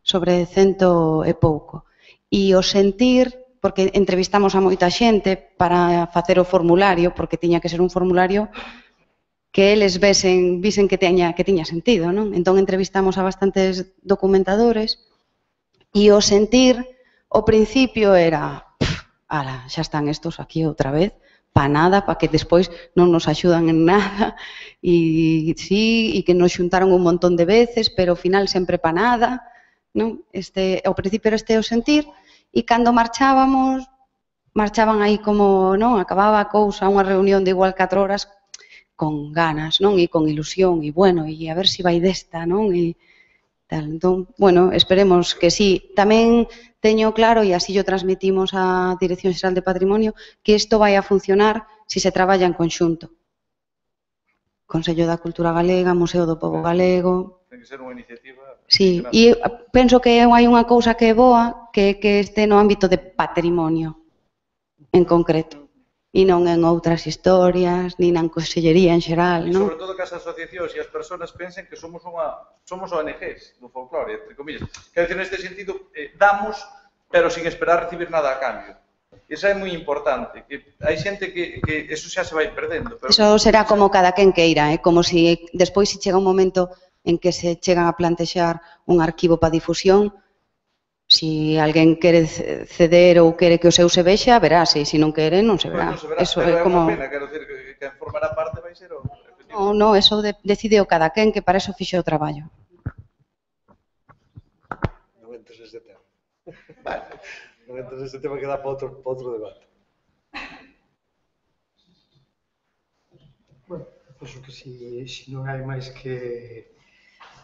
sobre 100 e pouco. E o sentir, porque entrevistamos a moita xente para facer o formulario, porque tiña que ser un formulario que eles visen que tiña sentido, non? Entón entrevistamos a bastantes documentadores e o sentir, ao principio era, ala, xa están estos aquí outra vez, para nada, para que despois non nos axudan en nada, e sí, e que nos xuntaron un montón de veces, pero ao final sempre para nada, non? Ao principio era o sentir, e cando marchaban aí como, non? Acababa a cousa, unha reunión de igual 4 horas, con ganas, non? E con ilusión, e bueno, e a ver se vai desta, non? E tal. Entón, bueno, esperemos que sí. Tamén teño claro, e así o transmitimos á Dirección Xeral de Patrimonio, que isto vai a funcionar se se traballa en conxunto. Consello da Cultura Galega, Museo do Pobo Galego. Ten que ser unha iniciativa... Sí, e penso que hai unha cousa que é boa, que este no ámbito de patrimonio, en concreto, e non en outras historias, ni na consellería en xeral, E non? sobre todo que as asociacións e as persoas pensen que somos ONGs do folclore, entre comillas. Quero dicir, neste sentido, damos, pero sin esperar recibir nada a cambio. Esa é moi importante, que hai xente que eso xa se vai perdendo. Pero... Eso será como cada quen queira, como se despois se chega un momento en que se chegan a plantexar un arquivo para difusión, si alguén quere ceder ou quere que o seu se vexa, verase, e se non quere, non se verá. Eso é como... unha pena, quero dicir, que quen formará parte vai ser o... Non, eso decide o cada quen, que para eso fixe o traballo. Non entres neste tema. Non entres neste tema que dá para outro debate. Bueno, penso que se non hai máis que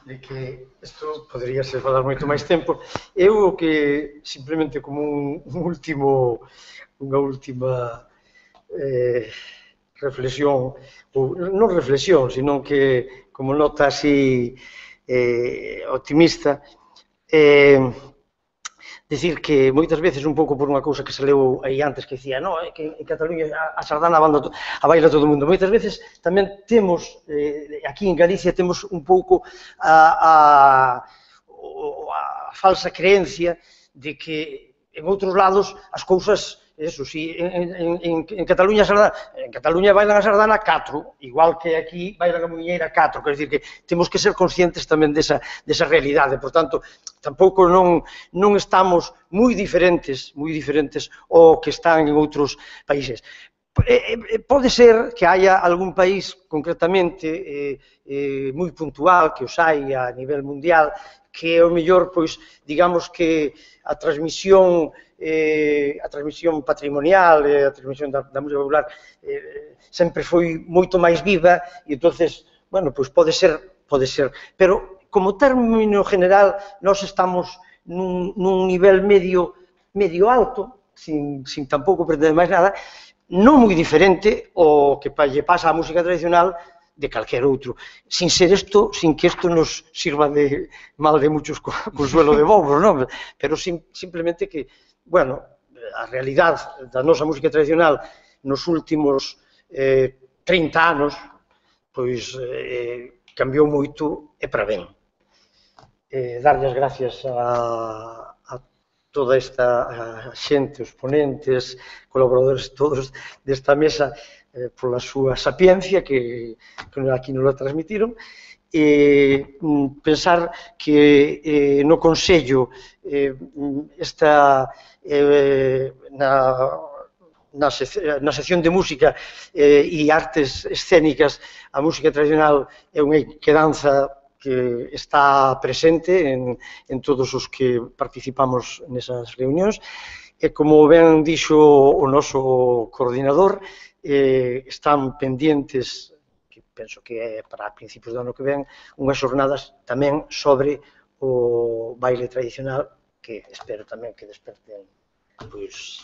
de que isto podría ser falar moito máis tempo. Eu que simplemente como unha última reflexión, ou non reflexión, sino que como nota así optimista, decir que moitas veces un pouco por unha cousa que se leu aí antes que dicía, no, que en Cataluña a sardana a baila todo o mundo. Moitas veces tamén temos, aquí en Galicia temos un pouco a falsa creencia de que en outros lados as cousas, eso, si en Cataluña bailan a sardana 4, igual que aquí bailan a muñeira 4, quer dizer que temos que ser conscientes tamén desa realidade, por tanto, tampouco non estamos moi diferentes ao que están en outros países. Pode ser que haya algún país concretamente moi puntual, que os hai a nivel mundial, que o mellor, pois, digamos que a transmisión patrimonial, a transmisión da música popular sempre foi moito máis viva e entonces, bueno, pois pode ser, pero como término general nós estamos nun nivel medio alto, sin tampouco pretender máis nada, non moi diferente ao que lle pasa á música tradicional de calquer outro, sin que isto nos sirva de mal de muchos consuelo de bobos, non? Pero simplemente que, bueno, a realidade da nosa música tradicional nos últimos 30 anos, pois cambiou moito e para ben. Darlle as gracias a toda esta xente, os ponentes, colaboradores todos desta mesa, pola súa sapiencia que aquí nos la transmitiron, e pensar que no Consello na sección de música e artes escénicas, a música tradicional é unha quedanza que está presente en todos os que participamos nesas reunións, e como ben dixo o noso coordinador, están pendientes, que penso que é para principios do ano que ven, unhas xornadas tamén sobre o baile tradicional, que espero tamén que desperten pois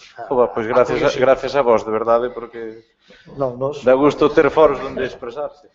gracias a vos, de verdade, porque dá gusto ter foros onde expresarse.